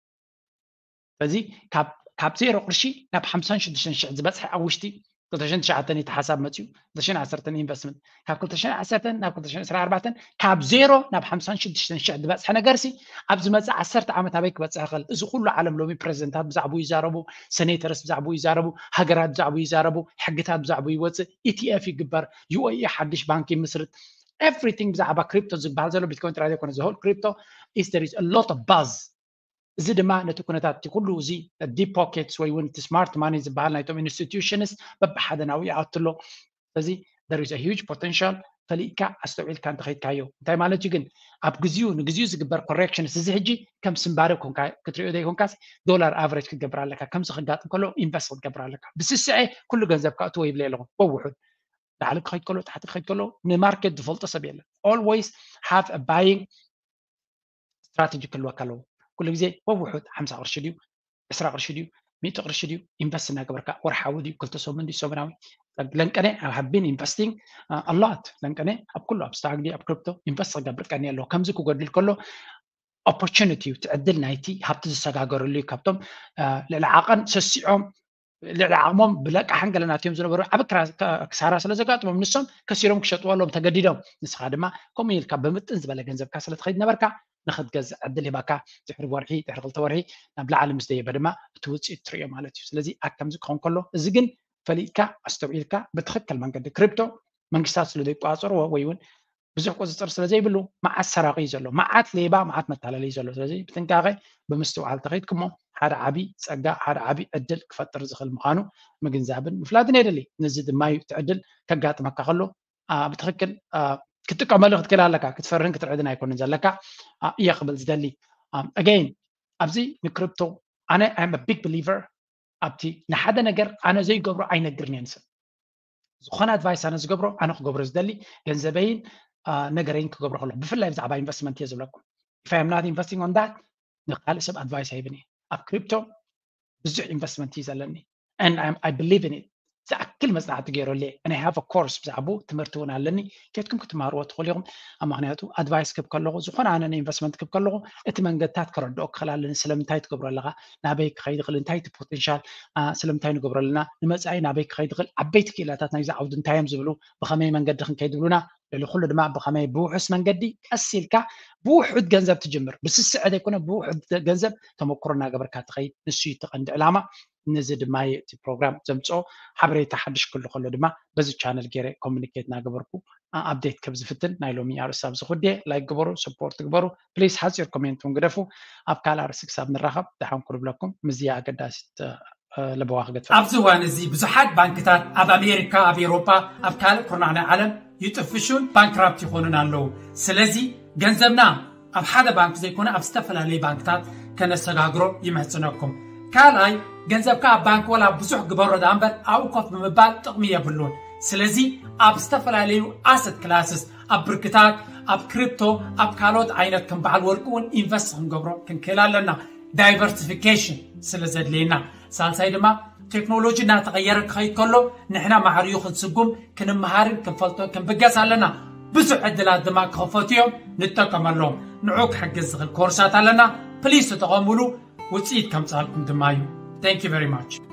ስለዚ ካብ ዜሮ ቅርሺ ናብ ሓምሳን ሽዱሽተን ሽሕ ዝበፅሐ ኣብ ውሽጢ ክልተ ሽሕን ትሽዓተን እዩ ተሓሳብ መፅዩ። ክልተ ሽሕን ዓሰርተን ኢንቨስትመንት፣ ካብ ክልተ ሽሕን ዓሰርተን ናብ ክልተ ሽሕን ዕስራን ኣርባዕተን ካብ ዜሮ ናብ ሓምሳን ሽዱሽተን ሽሕ ዝበፅሐ ነገር ሲ ኣብ ዝመፅእ ዓሰርተ ዓመት ኣበይ ክበፅሕ ይኽእል? እዚ ኩሉ ዓለም ሎሚ ፕሬዚደንታት ብዛዕባኡ ይዛረቡ፣ ሴኔተርስ ብዛዕባኡ ይዛረቡ፣ ሃገራት ብዛዕባኡ ይዛረቡ፣ ሕግታት ብዛዕባኡ ይወፅእ፣ ኢቲኤፍ ይግበር፣ ዩኤኢ ሓድሽ ባንክ ይምስርት። ኤቭሪቲንግ ብዛዕባ ክሪፕቶ ዝበሃል ዘሎ ቢትኮይን ጥራይ ዘይኮነ፣ ዘሆል ክሪፕቶ ኢስ there is a lot of buzz። እዚ ድማ ነቲ ኩነታት እቲ ኩሉ እዚ ዲፕ ፖኬትስ ወይ እውን እቲ ስማርት ማኒ ዝበሃል ናይቶም ኢንስቲትዩሽንስ በብሓደ ናብኡ ይኣቱ ኣሎ። ስለዚ there is a huge potential። ፈሊጥካ ኣስተውዒልካ እንተኸይድካዮ እንታይ ማለት እዩ? ግን ኣብ ግዜኡ ንግዜኡ ዝግበር ኮሬክሽንስ እዚ ሕጂ ከም ስምባረ ክትሪኦ ዘይኮንካስ ዶላር ኣቨሬጅ ክትገብር ኣለካ። ከምዚ ክጋጥም ከሎ ኢንቨስት ክትገብር ኣለካ። ብስስዐ ኩሉ ገንዘብካ እትዎ ይብለ ኣለኹ። ወውሑድ ላዕሊ ክኸይድ ከሎ ታሕቲ ክኸይድ ከሎ ንማርኬት ዝፈልጦ ሰብ የለን። Always have a buying ስትራቴጂ ክህልወካ ኣለዎ። ኩሉ ግዜ ወውሑድ ሓምሳ ቅርሺ ድዩ፣ ዕስራ ቅርሺ ድዩ፣ ሚእቲ ቅርሺ ድዩ ኢንቨስት እናገበርካ፣ ወርሓዊ ድዩ፣ ክልተ ሰሙን ድዩ፣ ሰሙናዊ። ለንቀነ I have been investing a lot። ለንቀነ ኣብ ኩሉ ኣብ ስታክ ድዩ ኣብ ክሪፕቶ ኢንቨስት ክገብር ቀኒ ኣለዎ። ከምዚ ክጎድል ከሎ ኦፖርቹኒቲ እዩ፣ እቲ ዕድል ናይቲ ሃብቲ ዝሰጋገረሉ እዩ። ካብቶም ልዕሊ ዓቐን ሰሲዖም ልዕሊ ዓቕሞም ብለቃሕን ገለናት እዮም ዝነበሩ ዓብ ክሳራ ስለ ዘጋጥሞም ንሶም ከሲሮም ክሸጥዎ ኣለዎም ተገዲዶም። ንስኻ ድማ ከምኡ ኢልካ ብምጥን ዝበለ ገንዘብካ ስለ ትኸይድ ነበርካ ንኽትገዝእ ዕድል ሂባካ ድሕሪ ወርሒ ድሕሪ ክልተ ወርሒ ናብ ላዕሊ ምስ ደየበ ድማ እቲ ውፅኢት ትርእዮ ማለት እዩ። ስለዚ ኣብ ከምዚ ክኸውን ከሎ እዚ ግን ፈሊጥካ ኣስተውዒልካ ብትኽክል መንገዲ ክሪፕቶ መንግስታት ስለ ዘይቆፃፀርዎ ወይ እውን ብዙሕ ቁፅፅር ስለ ዘይብሉ መዓት ሰራቂ እዩ ዘሎ፣ መዓት ሌባ፣ መዓት መታለሊ እዩ ዘሎ። ስለዚ ብጥንቃቄ ብምስትውዓል ተኸይድኩሞ ሓደ ዓቢ ፀጋ ሓደ ዓቢ ዕድል ክፈጥር ዝኽእል ምዃኑ ምግንዛብን ምፍላጥን የድሊ። ነዚ ድማ እዩ እቲ ዕድል ከጋጥመካ ከሎ ብትኽክል ክትጥቀመሉ ክትክእል ኣለካ። ክትፈርህን ክትርዕድን ኣይኮንን ዘለካ እየ ክብል ዝደሊ። ኣገይን ኣብዚ ንክሪፕቶ ኣነ I'm a big believer ኣብቲ ንሓደ ነገር ኣነ ዘይገብሮ ኣይነግርን እየ ንስብ ዝኾነ ኣድቫይስ ኣነ ዝገብሮ ኣነ ክገብሮ ዝደሊ ገንዘበይን ነገረይን ክገብሮ ከለኩ ብፍላይ ብዛዕባ ኢንቨስትመንት እየ ዝብለኩም። If I am not investing on that ንካልእ ሰብ ኣድቫይስ ኣይብን እየ። ኣብ ክሪፕቶ ብዙሕ ኢንቨስትመንት እዩ ዘለኒ and I believe in it። ዝኣክል መፅናዕቲ ገይረሉ እየ and I have a course ብዛዕባኡ ትምህርቲ እውን ኣለኒ። ኬድኩም ክትመሃርዎ ትኽእሉ ኢኹም። ኣብ ምክንያቱ ኣድቫይስ ክብ ከለኹ ዝኾነ ኣነ ንኢንቨስትመንት ክብ ከለኹ እቲ መንገድታት ከረድኦ ክኽእል ኣለኒ። ስለምንታይ ትገብሮ ኣለኻ፣ ናበይ ክኸይድ ይኽእል፣ እንታይ እቲ ፖቴንሻል፣ ስለምንታይ ንገብሮ ኣለና፣ ንመፃኢ ናበይ ክኸይድ ይኽእል፣ ዓበይቲ ክኢላታት ናይዚ ዓውዲ እንታይ እዮም ዝብሉ፣ ብኸመይ መንገዲ ክንከይድ ይብሉና፣ ልዕሊ ኩሉ ድማ ብኸመይ ብውሑስ መንገዲ ቀስ ኢልካ ብውሑድ ገንዘብ ትጅምር። ብስስዐ ዘይኮነ ብውሑድ ገንዘብ ተመክሮ እናገበርካ ትኸይድ። ንሱ እዩ እቲ ቀንዲ ዕላማ። ነዚ ድማ እዩ እቲ ፕሮግራም ዘምፅኦ። ሓበሬታ ሓድሽ ክህሉ ከሎ ድማ በዚ ቻነል ገይረ ኮሚኒኬት እናገበርኩ ኣፕዴት ከም ዝፍትን ናይ ሎሚ ኣርእስቲ ኣብዚ ኩዴ። ላይክ ግበሩ፣ ሰፖርት ግበሩ ፕሊስ። ሓፂር ኮሜንት እውን ግደፉ። ኣብ ካልእ ኣርእስቲ ክሳብ ንራኸብ ደሓን ኩኑ ብለኩም። ምስዚ ኣገዳሲት ለበዋ ክገድፈ ኣብዚ እዋን እዚ ብዙሓት ባንክታት ኣብ ኣሜሪካ፣ ኣብ ኤውሮጳ፣ ኣብ ካልእ ኩርናዕ ናይ ዓለም ይጥፍሹን ባንክራፕት ይኾኑን ኣለዉ። ስለዚ ገንዘብና ኣብ ሓደ ባንክ ዘይኮነ ኣብ ዝተፈላለዩ ባንክታት ከነሰጋግሮ ይመሕጽነኩም። ካልኣይ፣ ገንዘብካ ኣብ ባንክ ወላ ብዙሕ ግበሮ ደኣ እምበር ኣብኡ ኮፍ ብምባል ጥቕሚ የብሉን። ስለዚ ኣብ ዝተፈላለዩ ኣሰት ክላስስ፣ ኣብ ብርክታት፣ ኣብ ክሪፕቶ፣ ኣብ ካልኦት ዓይነት ከም በዓል ወርቂ እውን ኢንቨስት ክንገብሮ ክንክእል ኣለና። ዳይቨርሲፊኬሽን ስለ ዘድልየና። ሳልሳይ ድማ ቴክኖሎጂ እናተቐየረ ክኸይድ ከሎ ንሕና ማዕርዩ ክንስጉም ክንመሃርን ክንፈልጦን ክንብገስ ኣለና። ብዙሕ ዕድላት ድማ ክኸፈቱ እዮም፣ ንጠቀመሎም። ንዑ ክሕግዝ ዝኽእል ኮርሳት ኣለና። ፕሊስ ተጠቐሙሉ፣ ውፅኢት ከምፃልኩም ድማ እዩ። Thank you very much።